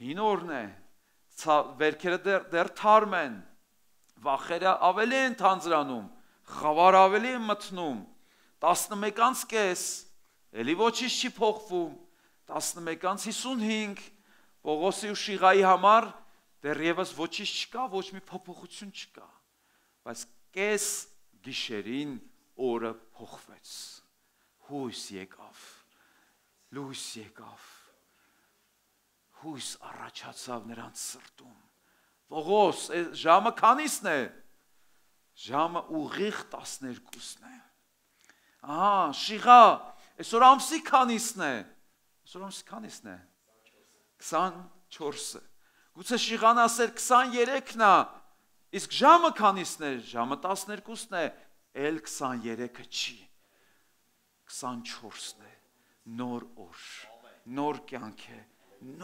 հին օրն է, վերքերը դեռ, դեռ թարմ են, վախերը ավելի են թանձրանում, խավարը ավելի են մթնում, տասնմեկանց կես, էլի ոչինչ չի փոխվում, տասնմեկանց հիսունհինգ, Պողոսի ու Շիղայի համար դեռևս ոչինչ չկա, ոչ մի փոփոխություն չկա, բայց կես գիշերին օրը փոխվեց, հույս եկավ, լույս եկավ, հույս առաջացավ նրանց սրտում։ Պողոս, ժամը քանիսն է, ժամը ուղիղ տասներկուսն է։ Ահա, Շիղա, այսօր ամսի քանիսն է, այսօր ամսի քանիսն է, քսանչորսը, գուցե Շիղան ասեր քսաներեքն է, իսկ ժամը քանիսն է, ժամը տասներկուսն է, էլ քսաներեքը չի, քսանչորսն է, նոր օր, նոր կյանք է,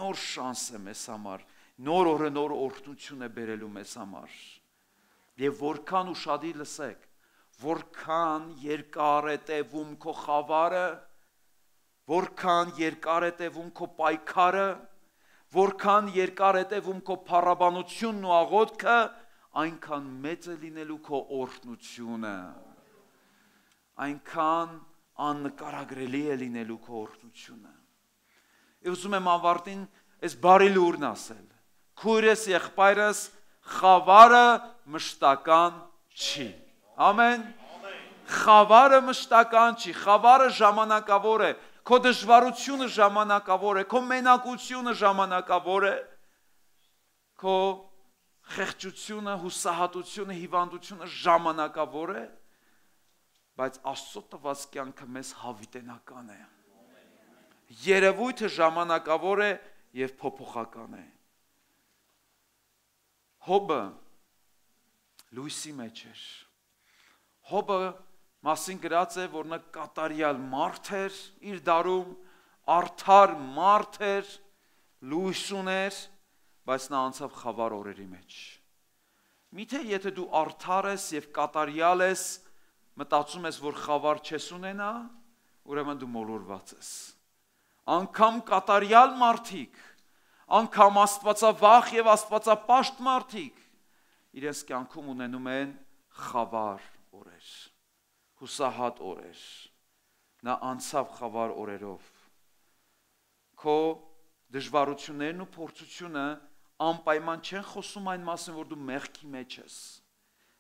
նոր շանս է մեզ համար, նոր օրը նոր օրհնություն է բերելու մեզ համար։ Եվ որքան ուշադիր լսեք, որքան երկար է տևում քո խավարը, որքան երկար է տևում քո պայքարը, որքան երկար է տևում քո փառաբանությունն ու աղոթքը, այնքան մեծ է լինելու քո օրհնությունը, այնքան աննկարագրելի է լինելու քո օրհնությունը։ Ես ուզում եմ ավարտին այս բարի լուրն ասել, քույրս եղբայրս խավարը մշտական չի, ամեն, խավարը մշտական չի, խավարը ժամանակավոր է, քո դժվարությունը ժամանակավոր է, քո մենակությունը ժամանակավոր է, քո խեղճությունը, հուսահատությունը, հիվանդությունը ժամանակավոր է, բայց Աստծո տված կյանքը մեզ հավիտենական է։ Երևույթը ժամանակավոր է եւ փոփոխական է։ Հոբը լույսի մեջ էր։ Հոբը մասին գրած է, որ նա կատարյալ մարդ էր իր դարում, արդար մարդ էր, լույս ուներ, բայց նա անցավ խավար օրերի մեջ։ Միթե եթե դու արդար ես եւ կատարյալ ես, մտածում ես, որ խավար չես ունենա, ուրեմն դու մոլորված ես։ Անկամ կատարյալ մարդիկ, անկամ աստվածավախ եւ աստվածապաշտ մարդիկ իրենց կյանքում ունենում են խավար օրեր, հուսահատ օրեր, նա անցավ խավար օրերով։ Քո դժվարություններն ու փորձությունը անպայման չեն խոսում այն մասին, որ դու մեղքի մեջ ես։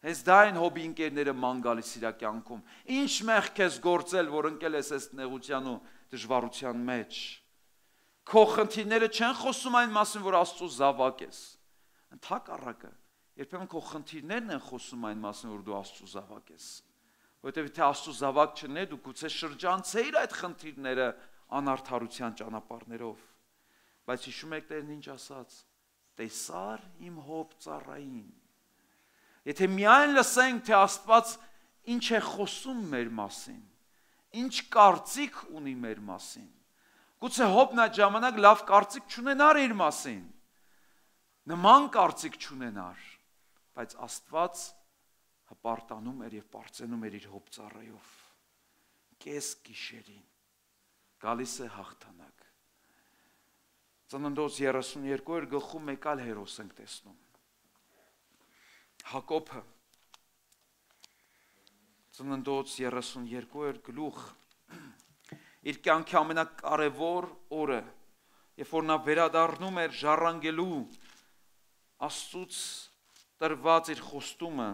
Հենց դա են Հոբի ընկերները ման գալիս իր կյանքում։ Ինչ մեղք ես գործել, որ ընկել ես այս նեղության ու դժվարության մեջ։ Քո խնդիրները չեն խոսում այն մասին, որ Աստծո զավակ ես։ Ընդհակառակը, երբեմն քո խնդիրներն են խոսում այն մասին, որ դու Աստծո զավակ ես։ Որովհետև եթե Աստծո զավակ չլինես, դու գուցե շրջանցեիր այդ խնդիրները անարդարության ճանապարհներով։ Բայց հիշում եք Տերն ինչ ասաց. տեսար իմ Հոբ ծառային։ Եթե միայն լսենք, թե Աստված ինչ է խոսում մեր մասին, ինչ կարծիք ունի մեր մասին, գուցե Հոբն այդ ժամանակ լավ կարծիք չունենար իր մասին, նման կարծիք չունենար, բայց Աստված հպարտանում էր և պարծենում էր իր Հոբ ծառայով, կես գիշերին, գալիս է հաղթանակ։ Ծննդոց երեսունյերկու գլխում մեկ այլ հերոս ենք տեսնում։ Հակոբը, ծննդոց երեսունյերկու գլուխ, իր կյանքի ամենակարևոր օրը, երբ որ նա վերադառնում էր ժառանգելու Աստծուց տրված իր խոստումը,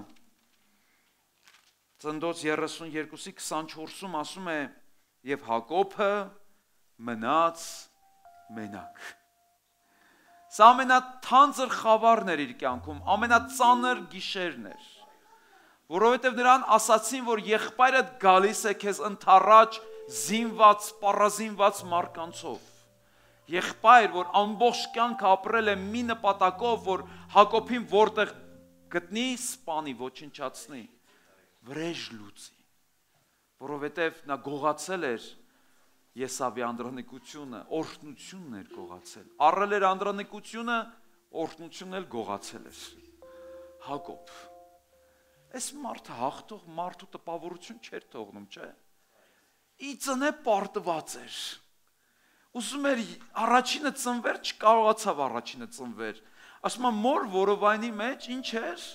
ծննդոց երեսունյերկու քսանչորսում ասում է, և Հակոբը մնաց մենակ։ Սա ամենաթանձր խավարն էր իր կյանքում, ամենածանր գիշերն էր, որովհետև նրան ասացին, որ եղբայրդ գալիս է քեզ ընդառաջ զինված, պառազինված մարկանցով։ Եղբայր, որ ամբողջ կյանքը ապրել է մի նպատակով, որ Հակոբին որտեղ գտնի, սպանի, ոչնչացնի, վրեժ լուծի, որովհետև նա գողացել էր Եսավի անդրանիկությունը, օրհնությունն էր գողացել, առել էր անդրանիկությունը, օրհնությունն էլ գողացել էր։ Հակոբ, այս մարդը հաղթող մարդու տպավորություն չէր թողնում, չէ։ Ի ծնե պարտված էր, ուզում էր առաջինը ծնվեր, չկարողացավ առաջինը ծնվեր, ասում եմ մոր որովայնի մեջ ինչ էր,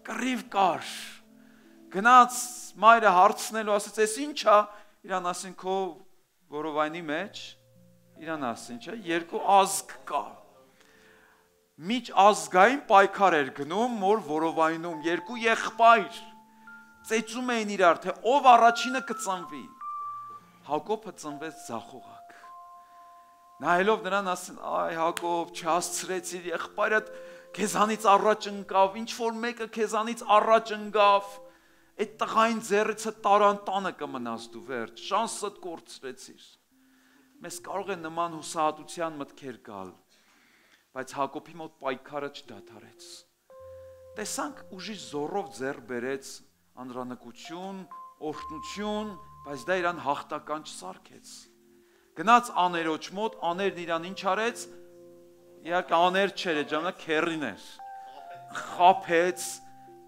կռիվ կար, գնաց մայրը հարցնելու, ասեց, ես ինչ է, իրան ասին քո որովայնի մեջ, իրան ասին, չէ, երկու ազգ կա, միջ ազգային պայքար էր գնում, մոր որովայնում, երկու եղբայր, ծեծում էին իրար, թե ով առաջինը կծնվի, Հակոբը ծնվեց ձախողակ, նայելով նրան ասին, այ Հակոբ, չհասցրեցիր, եղբայրդ քեզանից առաջ ընկավ, ինչ որ մեկը քեզանից առաջ ընկավ, այդ տղային ձեռիցը տարան տանը կմնաս դու վերջ, շանսդ կորցրեցիր։ Մեզ կարող է նման հուսահատության մտքեր գալ, բայց Հակոբի մոտ պայքարը չդադարեց։ Տեսանք ուժի զորով ձեռ բերեց անդրանիկություն, օրհնություն, բայց դա իրան հաղթական չսարքեց։ Գնաց աներոջ մոտ, աներն իրան ինչ արեց, իհարկե աներ չէր այդ ժամանակ քերին էր։ Խափեց,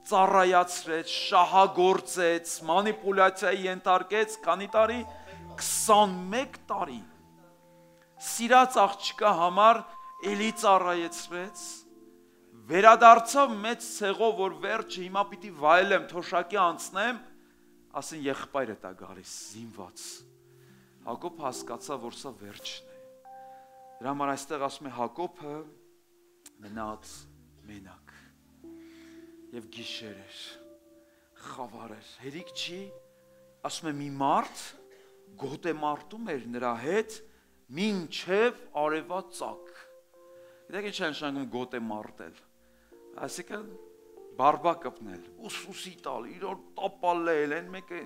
ծառայացրեց, շահագործեց, մանիպուլյացիայի ենթարկեց, քանի տարի, քսանմեկ տարի։ Սիրած աղջկա համար էլի ծառայեցրեց, վերադարձավ մեծ ցեղով, որ վերջը հիմա պիտի վայելեմ, թոշակի անցնեմ, ասին եղբայրը տա գալիս, զինված։ Հակոբ հասկացավ, որ սա վերջն է։ Դրա համար այստեղ ասում է Հակոբը մնաց մենակ եւ գիշեր էր, խավար էր, հերիք չի, ասում է մի մարդ գոտեմարտում էր նրա հետ մինչև արևածագ։ Գիտեք ինչ է նշանակում գոտեմարտել, այսինքն բարբա կպնել, ուսուսի տալ, իրոր տապալել, են մեկը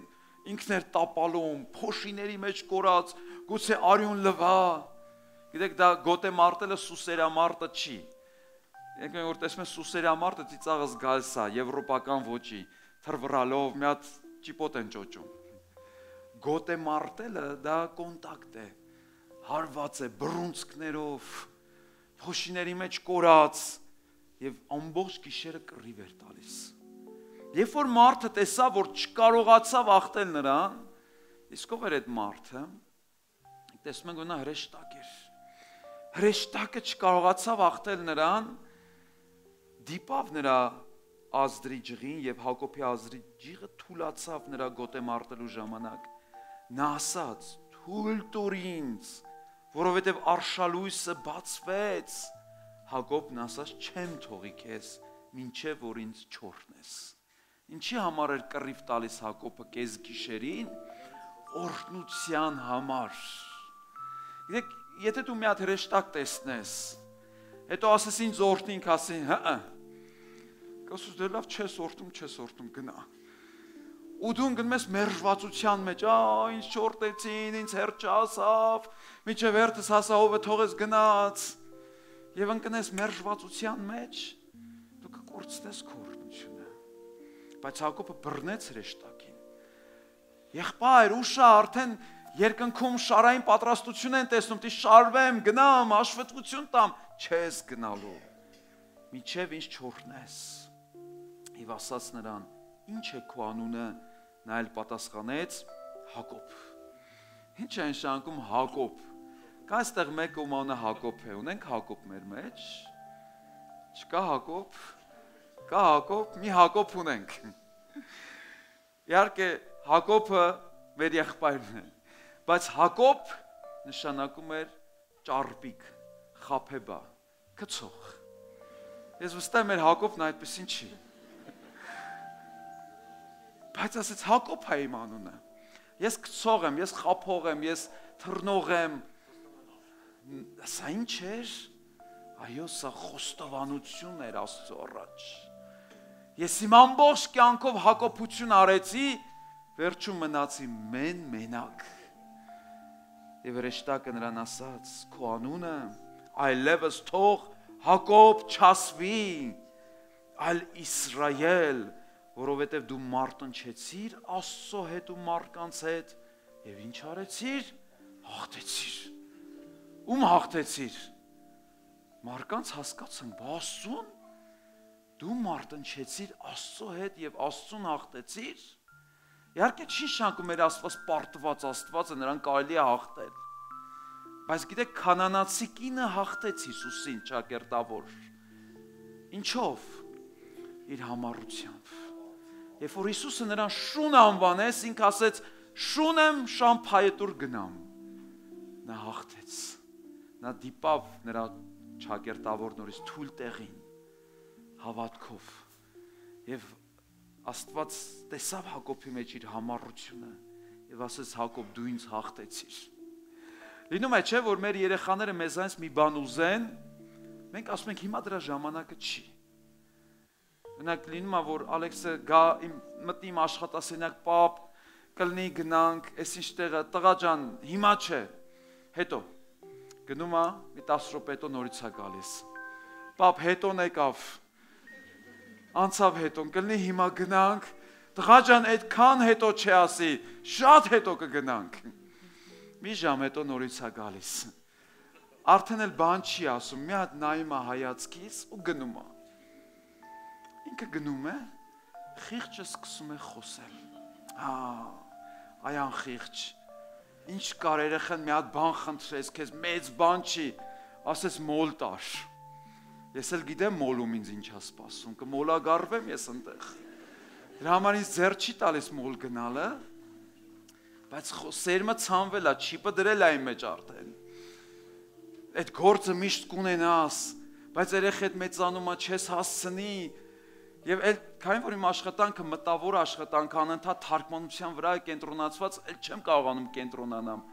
ինքն էր տապալում, փոշիների մեջ կորած, գուցե արյուն լվա։ Գիտեք դա գոտեմարտելը սուսերամարտը չի։ Եկեք որ տեսնում ես սուսերամարտը ծիծաղս գալիս է եվրոպական ոճի, թրվռալով մի հատ ճիպոտ են ճոճում։ Գոտեմարտելը դա կոնտակտ է, հարված է բռունցքներով, փոշիների մեջ կորած եւ ամբողջ գիշերը կռիվ էր տալիս։ Երբ որ մարդը տեսավ, որ չկարողացավ ախտել նրան, իսկ ով էր այդ մարդը, տեսնում ենք, որ նա հրեշտակ էր։ Հրեշտակը չկարողացավ ախտել նրան, դիպավ նրա ազդրի ջղին եւ Հակոբի ազդրի ջիղը թուլացավ նրա գոտեմարտելու ժամանակ։ Նա ասաց. «Թույլ տուր ինձ, որովհետեւ արշալույսը բացվեց»։ Հակոբն ասաց. «Չեմ թողի քեզ, մինչև որ ինձ չորհնես»։ Ինչի համար էր կռիվ տալիս Հակոբը կես գիշերին, օրհնության համար։ Գիտեք, եթե դու մի հատ հրեշտակ տեսնես, հետո ասես ինձ օրհնինք, ասին, հա, կասես դե լավ չես օրհնում, չես օրհնում, գնա։ Ու դու գնում ես մերժվածության մեջ, ա, ինձ չորհնեցին, ինձ հերթ չասավ, միջև հերթս հասահովը թողես գնաց, եւ ընկնես մերժվածության մեջ, դու կկորցնես քո օրհնությունը։ Բայց Հակոբը բռնեց հրեշտակին։ Եղբայր, ուշա, արդեն երկնքում շարային պատրաստություն են տեսնում, դի շարվեմ, գնամ, հաշվետվություն տամ, չես գնալու։ Միջև ինձ չորհնես։ Եվ ասաց նրան. «Ինչ է քո անունը»։ Նա էլ պատասխանեց. «Հակոբ»։ Ինչ է նշանակում Հակոբ։ Կա այստեղ մեկը ում անունը Հակոբ է, ունենք Հակոբ մեր մեջ։ Չկա Հակոբ։ Կա Հակոբ, մի Հակոբ ունենք։ Իհարկե Հակոբը մեր եղբայրն է, բայց Հակոբ նշանակում էր ճարպիկ, խաբեբա, գցող։ Ես վստահ եմ մեր Հակոբն այդպեսին չի։ Բայց ասեց Հակոբ է իմ անունը։ Ես գցող եմ, ես խաբող եմ, ես թռնող եմ։ Սա ինչ էր։ Այո, սա խոստովանություն էր Աստծո առաջ։ Ես իմ ամբողջ կյանքով հակոբություն արեցի, վերջում մնացի մեն մենակ։ Եվ հրեշտակը նրան ասաց. «Քո անունը այլևս թող Հակոբ չասվի, այլ Իսրայել, որովհետև դու մարտնչեցիր Աստծո հետ ու մարդկանց հետ, եւ ինչ արեցիր, հաղթեցիր»։ Ում հաղթեցիր։ Մարդկանց հասկացան, Աստծուն դու մարտնչեցիր Աստծո հետ եւ Աստծուն հաղթեցիր։ Իհարկե չի շանկում մեր Աստված պարտված Աստվածը, նրան կարելի է հաղթել։ Բայց գիտեք, քանանացի կինը հաղթեց Հիսուսին ճակերտավոր։ Ինչով։ Իր համառությամբ։ Երբ որ Հիսուսը նրան շուն անվանեց, ինքը ասեց. «Շուն եմ, շամփայետուր գնամ»։ Նա հաղթեց։ Նա դիպավ նրա ճակերտավոր նորից թույլ տեղին հավատքով։ Եվ Աստված տեսավ Հակոբի մեջ իր համառությունը եւ ասեց. «Հակոբ, դու ինձ հաղթեցիր»։ Լինում է չէ, որ մեր երեխաները մեզանից մի բան ուզեն, մենք ասում ենք հիմա դրա ժամանակը չի։ Օրինակ լինում է, որ Ալեքսը գա իմ մտնի իմ աշխատասենյակ, պապ, կլինի գնանք, այս ինչ տեղը, տղա ջան, հիմա չէ, հետո գնում է, մի տասը րոպե հետո նորից է գալիս։ Պապ, հետոն եկավ։ Անցավ հետոն, կլինի հիմա գնանք, տղա ջան, այդքան հետո չի ասի, շատ հետո կգնանք։ Մի ժամ հետո նորից է գալիս։ Արդեն էլ բան չի ասում, մի հատ նայում է հայացքից ու գնում է։ Ինքը գնում է, խիղճը սկսում է խոսել։ Հա, այան խիղճ, ինչ կար երեխան մի հատ բան խնդրես, քեզ մեծ բան չի, ասես մոլ տար։ Ես էլ գիտեմ մոլում ինձ ինչ է սպասում, կմոլագարվեմ ես այնտեղ։ Դրա համար ինձ ձեռ չի տալիս մոլ գնալը, բայց սերմը ցանվել է, չիպը դրել է այն մեջ արդեն։ Այդ գործը միշտ կունենաս, բայց երեխեդ մեծանումը չես հասցնի, եւ էլ քանի որ իմ աշխատանքը մտավոր աշխատանք անընդհատ թարգմանության վրա է կենտրոնացված, էլ չեմ կարողանում կենտրոնանամ։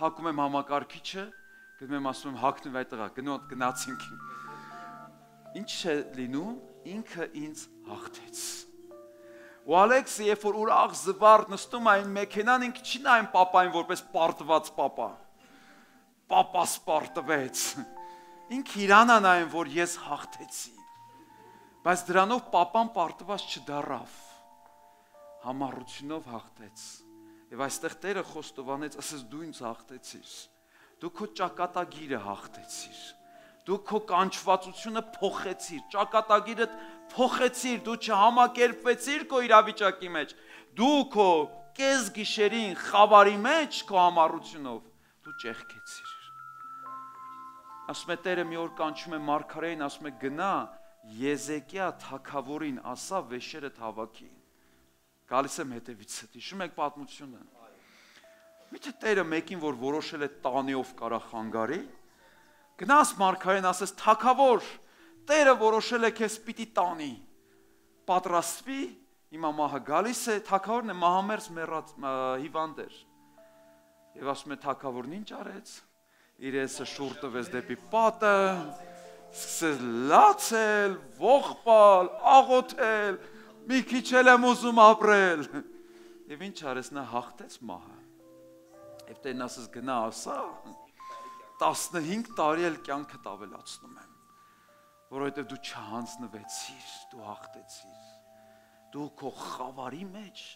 Հակում եմ համակարգիչը, գնում եմ ասում եմ հակնվի այդտեղ, գնոտ գնացինք։ Ինչ է լինում, ինքը ինձ հաղթեց։ Ու Ալեքսը երբ որ ուրախ զվարթ նստում այն մեքենան, ինքը չի նայում պապային որպես պարտված պապա։ Պապա սպարտվեց։ Ինքը իրան է նայում, որ ես հաղթեցի։ Բայց դրանով պապան պարտված չդառավ։ Համառությունով հաղթեց։ Եվ այստեղ Տերը խոստովանեց, ասես դու ինձ հաղթեցիր։ Դու քո ճակատագիրը հաղթեցիր։ Դու քո կանչվածությունը փոխեցիր, ճակատագիրը փոխեցիր, դու չհամակերպվեցիր քո իրավիճակի մեջ, դու քո կես գիշերին խավարի մեջ քո համառությունով դու ճեղքեցիր։ Ասում է Տերը մի օր կանչում է մարգարեին, ասում է գնա Եզեկիա թագավորին ասա վեշերդ հավաքի։ Գալիս եմ հետևիցդ, հիշում եք պատմությունը։ Միթե Տերը մեկին, որ որոշել է տանիով կարա խանգարի, գնաս մարգարեն ասես թագավոր, Տերը որոշել է քեզ պիտի տանի, պատրաստվի, հիմա մահը գալիս է, թագավորն է մահամերձ մեռած հիվանդ էր։ Եվ ասում է թագավորն ինչ արեց, իր եսը շուռ տվեց դեպի պատը, սկսեց լացել, ողբալ, աղոթել, մի քիչ էլ եմ ուզում ապրել։ Եվ ինչ արեց, նա հաղթեց մահը։ Եվ Տերն ասես գնա ասա, տասնհինգ տարի էլ կյանքդ ավելացնում եմ, որովհետև դու չհանձնվեցիր, դու հաղթեցիր, դու քո խավարի մեջ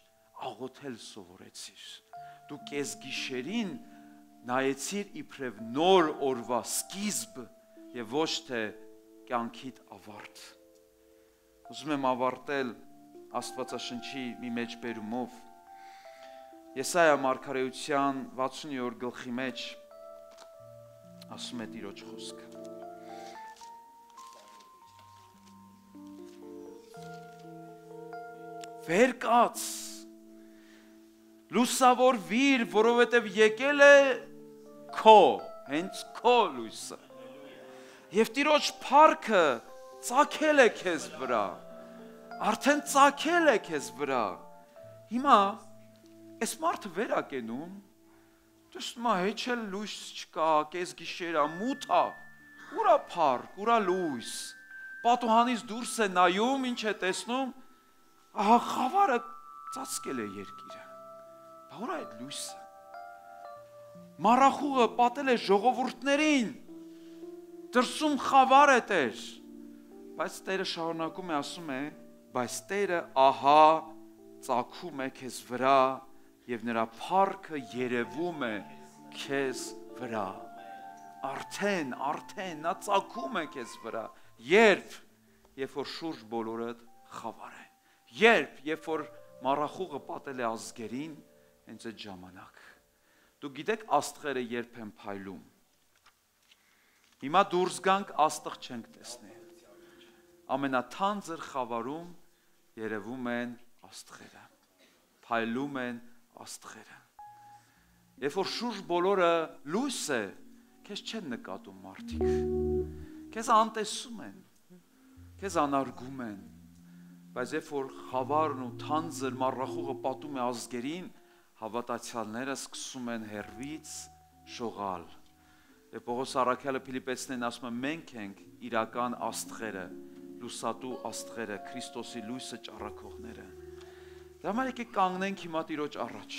աղոթել սովորեցիր, դու կես գիշերին նայեցիր իբրև նոր օրվա սկիզբ և ոչ թե կյանքիդ ավարտ։ Ուզում եմ ավարտել Աստվածաշնչի մի մեջբերումով, Եսայա մարգարեության վաթսունյորդ գլխի մեջ ասում է Տիրոջ խոսքը։ Վեր կաց, լուսավորվիր, որովհետև եկել է քո, հենց քո լույսը։ Եվ Տիրոջ փառքը ծագել է քեզ վրա, արդեն ծագել է քեզ վրա։ Հիմա այս մարդը վեր է կենում, տեսնում է հեչ էլ լույս չկա, կես գիշեր է, մութ է, ուր է փառք, ուր է լույս, պատուհանից դուրս է նայում, ինչ է տեսնում, ահա խավարը ծածկել է երկիրը, բա ուր է այդ լույսը, մառախուղը պատել է ժողովուրդներին, դրսում խավար է Տեր, բայց Տերը շարունակում է ասում է, բայց Տերը ահա ծագում է քեզ վրա և նրա փառքը երևում է քեզ վրա, արդեն, արդեն, նա ծագում է քեզ վրա, երբ, երբ որ շուրջ բոլորդ խավար է, երբ, երբ որ մառախուղը պատել է ազգերին, հենց այդ ժամանակ, դու գիտեք աստղերը երբ են փայլում, հիմա դուրս գանք աստղ չենք տեսնի, ամենաթանձր խավարում երևում են աստղերը, փայլում են աստղերը, երբ որ շուրջ բոլորը լույս է, քեզ չեն նկատում մարդիկ, քեզ անտեսում են, քեզ անարգում են, բայց երբ որ խավարն ու թանձր մառախուղը պատում է ազգերին, հավատացյալները սկսում են հեռվից շողալ, և Պողոս առաքյալը Փիլիպպեցիներին ասում է, մենք ենք իրական աստղերը, լուսատու աստղերը, Քրիստոսի լույսը ճառագողները։ Դրա համար եկեք կանգնենք հիմա Տիրոջ առաջ։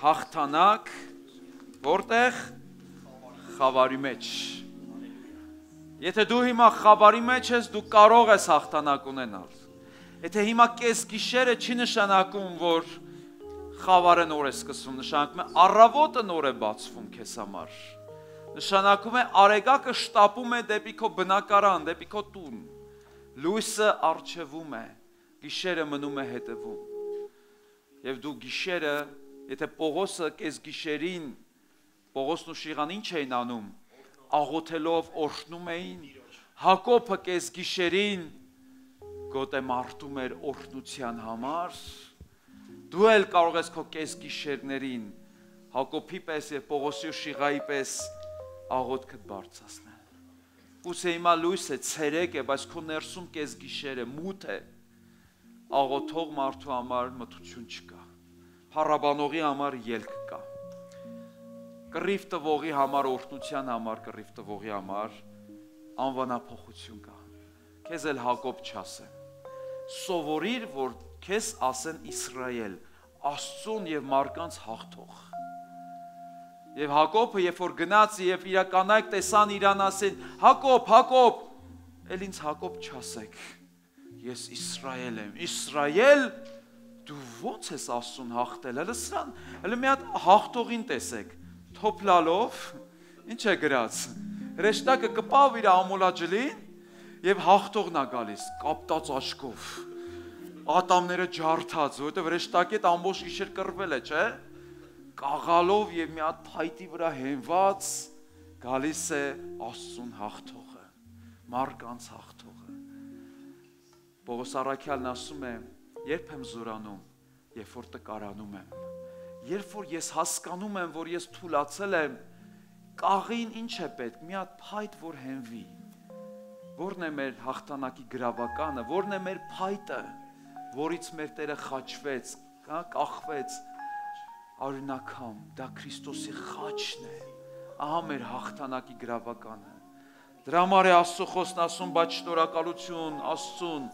Հաղթանակ, որտեղ խավարի մեջ։ Եթե դու հիմա խավարի մեջ ես, դու կարող ես հաղթանակ ունենալ։ Եթե հիմա կես գիշերը չի նշանակում, որ խավարը նոր է սկսվում, նշանակում է առավոտը նոր է բացվում քեզ համար։ Նշանակում է արեգակը շտապում է դեպի քո բնակարան, դեպի քո տուն։ Լույսը առջևում է, գիշերը մնում է հետևում։ Եվ դու գիշերը, եթե Պողոսը կես գիշերին, Պողոսն ու Շիղան ինչ էին անում, աղոթելով օրհնում էին, Հակոբը կես գիշերին գոտե մարտում էր օրհնության համար, դու էլ կարող ես քո կես գիշերներին Հակոբի պես եւ Պողոսի ու Շիղայի պես աղոթքդ բարձրացնել։ Ուսե հիմա լույս է, ցերեկ է, բայց քո ներսում կես գիշեր է, մութ է, աղոթող մարդու համար մթություն չկա, փառաբանողի համար ելք կա, կռիվ տվողի համար, օրհնության համար, կռիվ տվողի համար անվանափոխություն կա։ Քեզ էլ Հակոբ չասեն, սովորիր, որ քեզ ասեն Իսրայել, Աստծուն եւ մարդկանց հաղթող։ Եվ Հակոբը, երբ որ գնաց եւ իր կանայք տեսան իրան, ասեն, Հակոբ, Հակոբ, էլ ինձ Հակոբ չասեք, ես Իսրայել եմ, Իսրայել, դու ո՞նց ես Աստծուն հաղթել, հələ սրան, հələ մի հատ հաղթողին տեսեք, թոփլալով, ինչ է գրած, հրեշտակը կպավ իր ամոլաջլին եւ հաղթողն է գալիս, կապտած աչքով, ատամները ջարդած, որովհետեւ հրեշտակի հետ ամբողջ գիշեր կռվել է, չէ՞։ Կաղալով եւ մի հատ փայտի վրա հենված գալիս է Աստծուն հաղթողը, մարդկանց հաղթողը։ Պողոս առաքյալն ասում է, երբ եմ զորանում, երբ որ տկարանում եմ, երբ որ ես հասկանում եմ, որ ես թուլացել եմ, կաղին ինչ է պետք, մի հատ փայտ, որ հենվի։ Որն է մեր հաղթանակի գրավականը, որն է մեր փայտը, որից մեր Տերը խաչվեց, կախվեց, Արյունակամ, դա Քրիստոսի խաչն է, ահա մեր հաղթանակի գրավականը։ Դրա համար է Աստծո խոսքն ասում, բայց շնորհակալություն Աստծուն,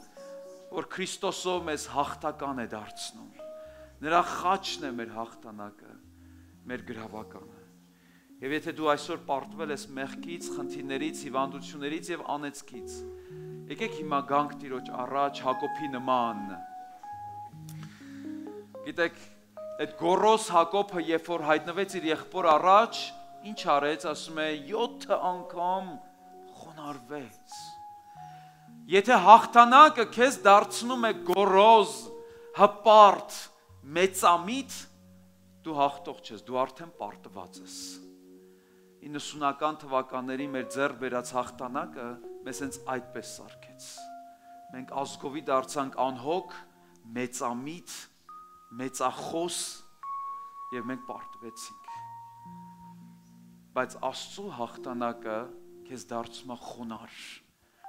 որ Քրիստոսով մեզ հաղթական է դարձնում։ Նրա խաչն է մեր հաղթանակը, մեր գրավականը։ Եվ եթե դու այսօր պարտվել ես մեղքից, խնդիրներից, հիվանդություններից եւ անեծքից, եկեք հիմա գանք Տիրոջ առաջ Հակոբի նման։ Գիտեք, այդ գոռոզ Հակոբը, երբ որ հայտնվեց իր եղբոր առաջ, ինչ արեց, ասում է, յոթ անգամ խոնարհվեց։ Եթե հաղթանակը քեզ դարձնում է գոռոզ, հպարտ, մեծամիտ, դու հաղթող չես, դու արդեն պարտված ես։ իննսունական թվականների մեր ձեռք բերած հաղթանակը մեզ հենց այդպես սարքեց։ Մենք ազգովի դարձանք անհոգ, մեծամիտ, մեծախոս եւ մենք պարտվեցինք։ Բայց Աստծո հաղթանակը քեզ դարձում է խոնարհ։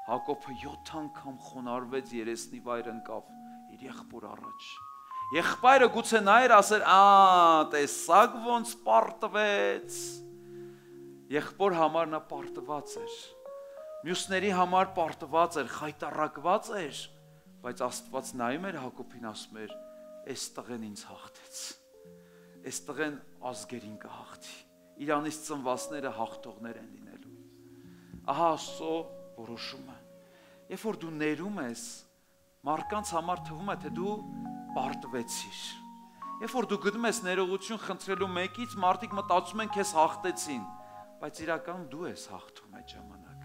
Հակոբը յոթ անգամ խոնարհվեց, երեսնի վայր ընկավ իր եղբոր առաջ։ Եղբայրը գուցե նայր ասեր, «Ա, տեսակ ոնց պարտվեց»։ Եղբոր համար նա պարտված էր։ Մյուսների համար պարտված էր, խայտառակված էր, բայց Աստված նայում էր Հակոբին, ասում էր, «Այս տղեն ինձ հաղթեց, այս տղեն ազգերին կհաղթի, իրանից ծնվածները հաղթողներ են լինելու»։ Ահա Աստծո որոշումը։ Երբ որ դու ներում ես, մարդկանց համար թվում է, թե դու պարտվեցիր։ Երբ որ դու գնում ես ներողություն խնդրելու մեկից, մարդիկ մտածում են քեզ հաղթեցին, բայց իրականում դու ես հաղթում այդ ժամանակ։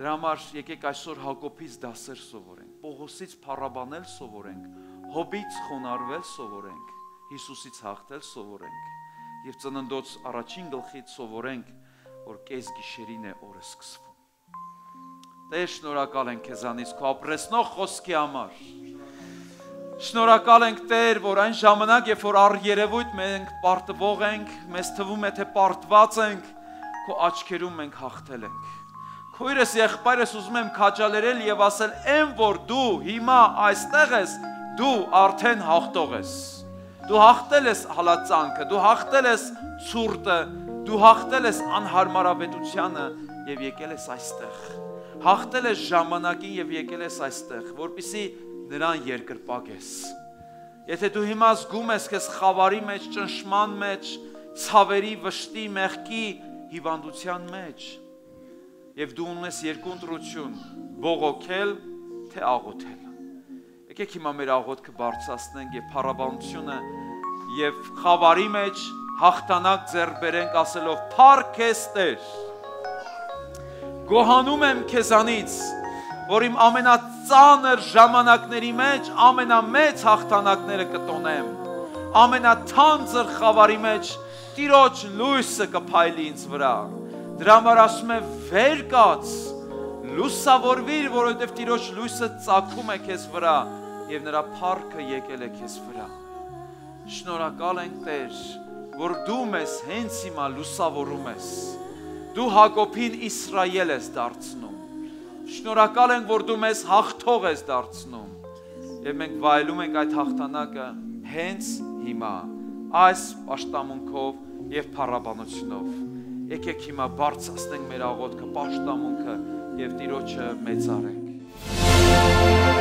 Դրա համար եկեք այսօր Հակոբից դասեր սովորենք, Պողոսից փառաբանել սովորենք, Հոբից խոնարհվել սովորենք, Հիսուսից հաղթել սովորենք եւ ծննդոց առաջին գլխից սովորենք, որ կես գիշերին է օրը սկսվում։ Տեր, շնորհակալ ենք քեզանից քո ապրեցնող խոսքի համար։ Շնորհակալ ենք Տեր, որ այն ժամանակ, երբ որ առ երևույթ մենք պարտվող ենք, մեզ թվում է թե պարտված ենք, քո աչքերում մենք հաղթել ենք։ Քույրս եղբայրս ուզում եմ քաջալերել եւ ասել, «Էն որ դու հիմա այստեղ ես, դու արդեն հաղթող ես։ Դու հաղթել ես հալածանքը, դու հաղթել ես ցուրտը, դու հաղթել ես անհարմարավետությանը եւ եկել ես այստեղ։ Հաղթել ես ժամանակին եւ եկել ես այստեղ, որպեսզի նրան երկրպագես։ Եթե դու հիմա զգում ես քեզ խավարի մեջ, ճնշման մեջ, ցավերի, վշտի, մեղքի, հիվանդության մեջ, եւ դու ունես երկու ընտրություն՝ բողոքել, թե աղոթել։ Եկեք հիմա մեր աղոթքը բարձրացնենք եւ փառաբանությունը եւ խավարի մեջ հաղթանակ ձեռք բերենք ասելով փառք քեզ Տեր գոհանում եմ քեզանից որ իմ ամենածանր ժամանակների մեջ ամենամեծ հաղթանակները կտոնեմ ամենաթանձր խավարի մեջ Տիրոջ լույսը կփայլի ինձ վրա դրա համար ասում եմ վեր կաց լուսավորվիր որովհետեւ Տիրոջ լույսը ծագում է քեզ վրա եւ նրա փառքը եկել է քեզ վրա շնորհակալ ենք Տեր որ դու մեզ հենց հիմա լուսավորում ես դու Հակոբին Իսրայել ես դարձնում շնորհակալ ենք որ դու մեզ հաղթող ես դարձնում եւ մենք վայելում ենք այդ հաղթանակը հենց հիմա այս պաշտամունքով եւ փառաբանությունով եկեք հիմա բարձրացնենք մեր աղոթքը պաշտամունքը եւ Տիրոջը մեծարենք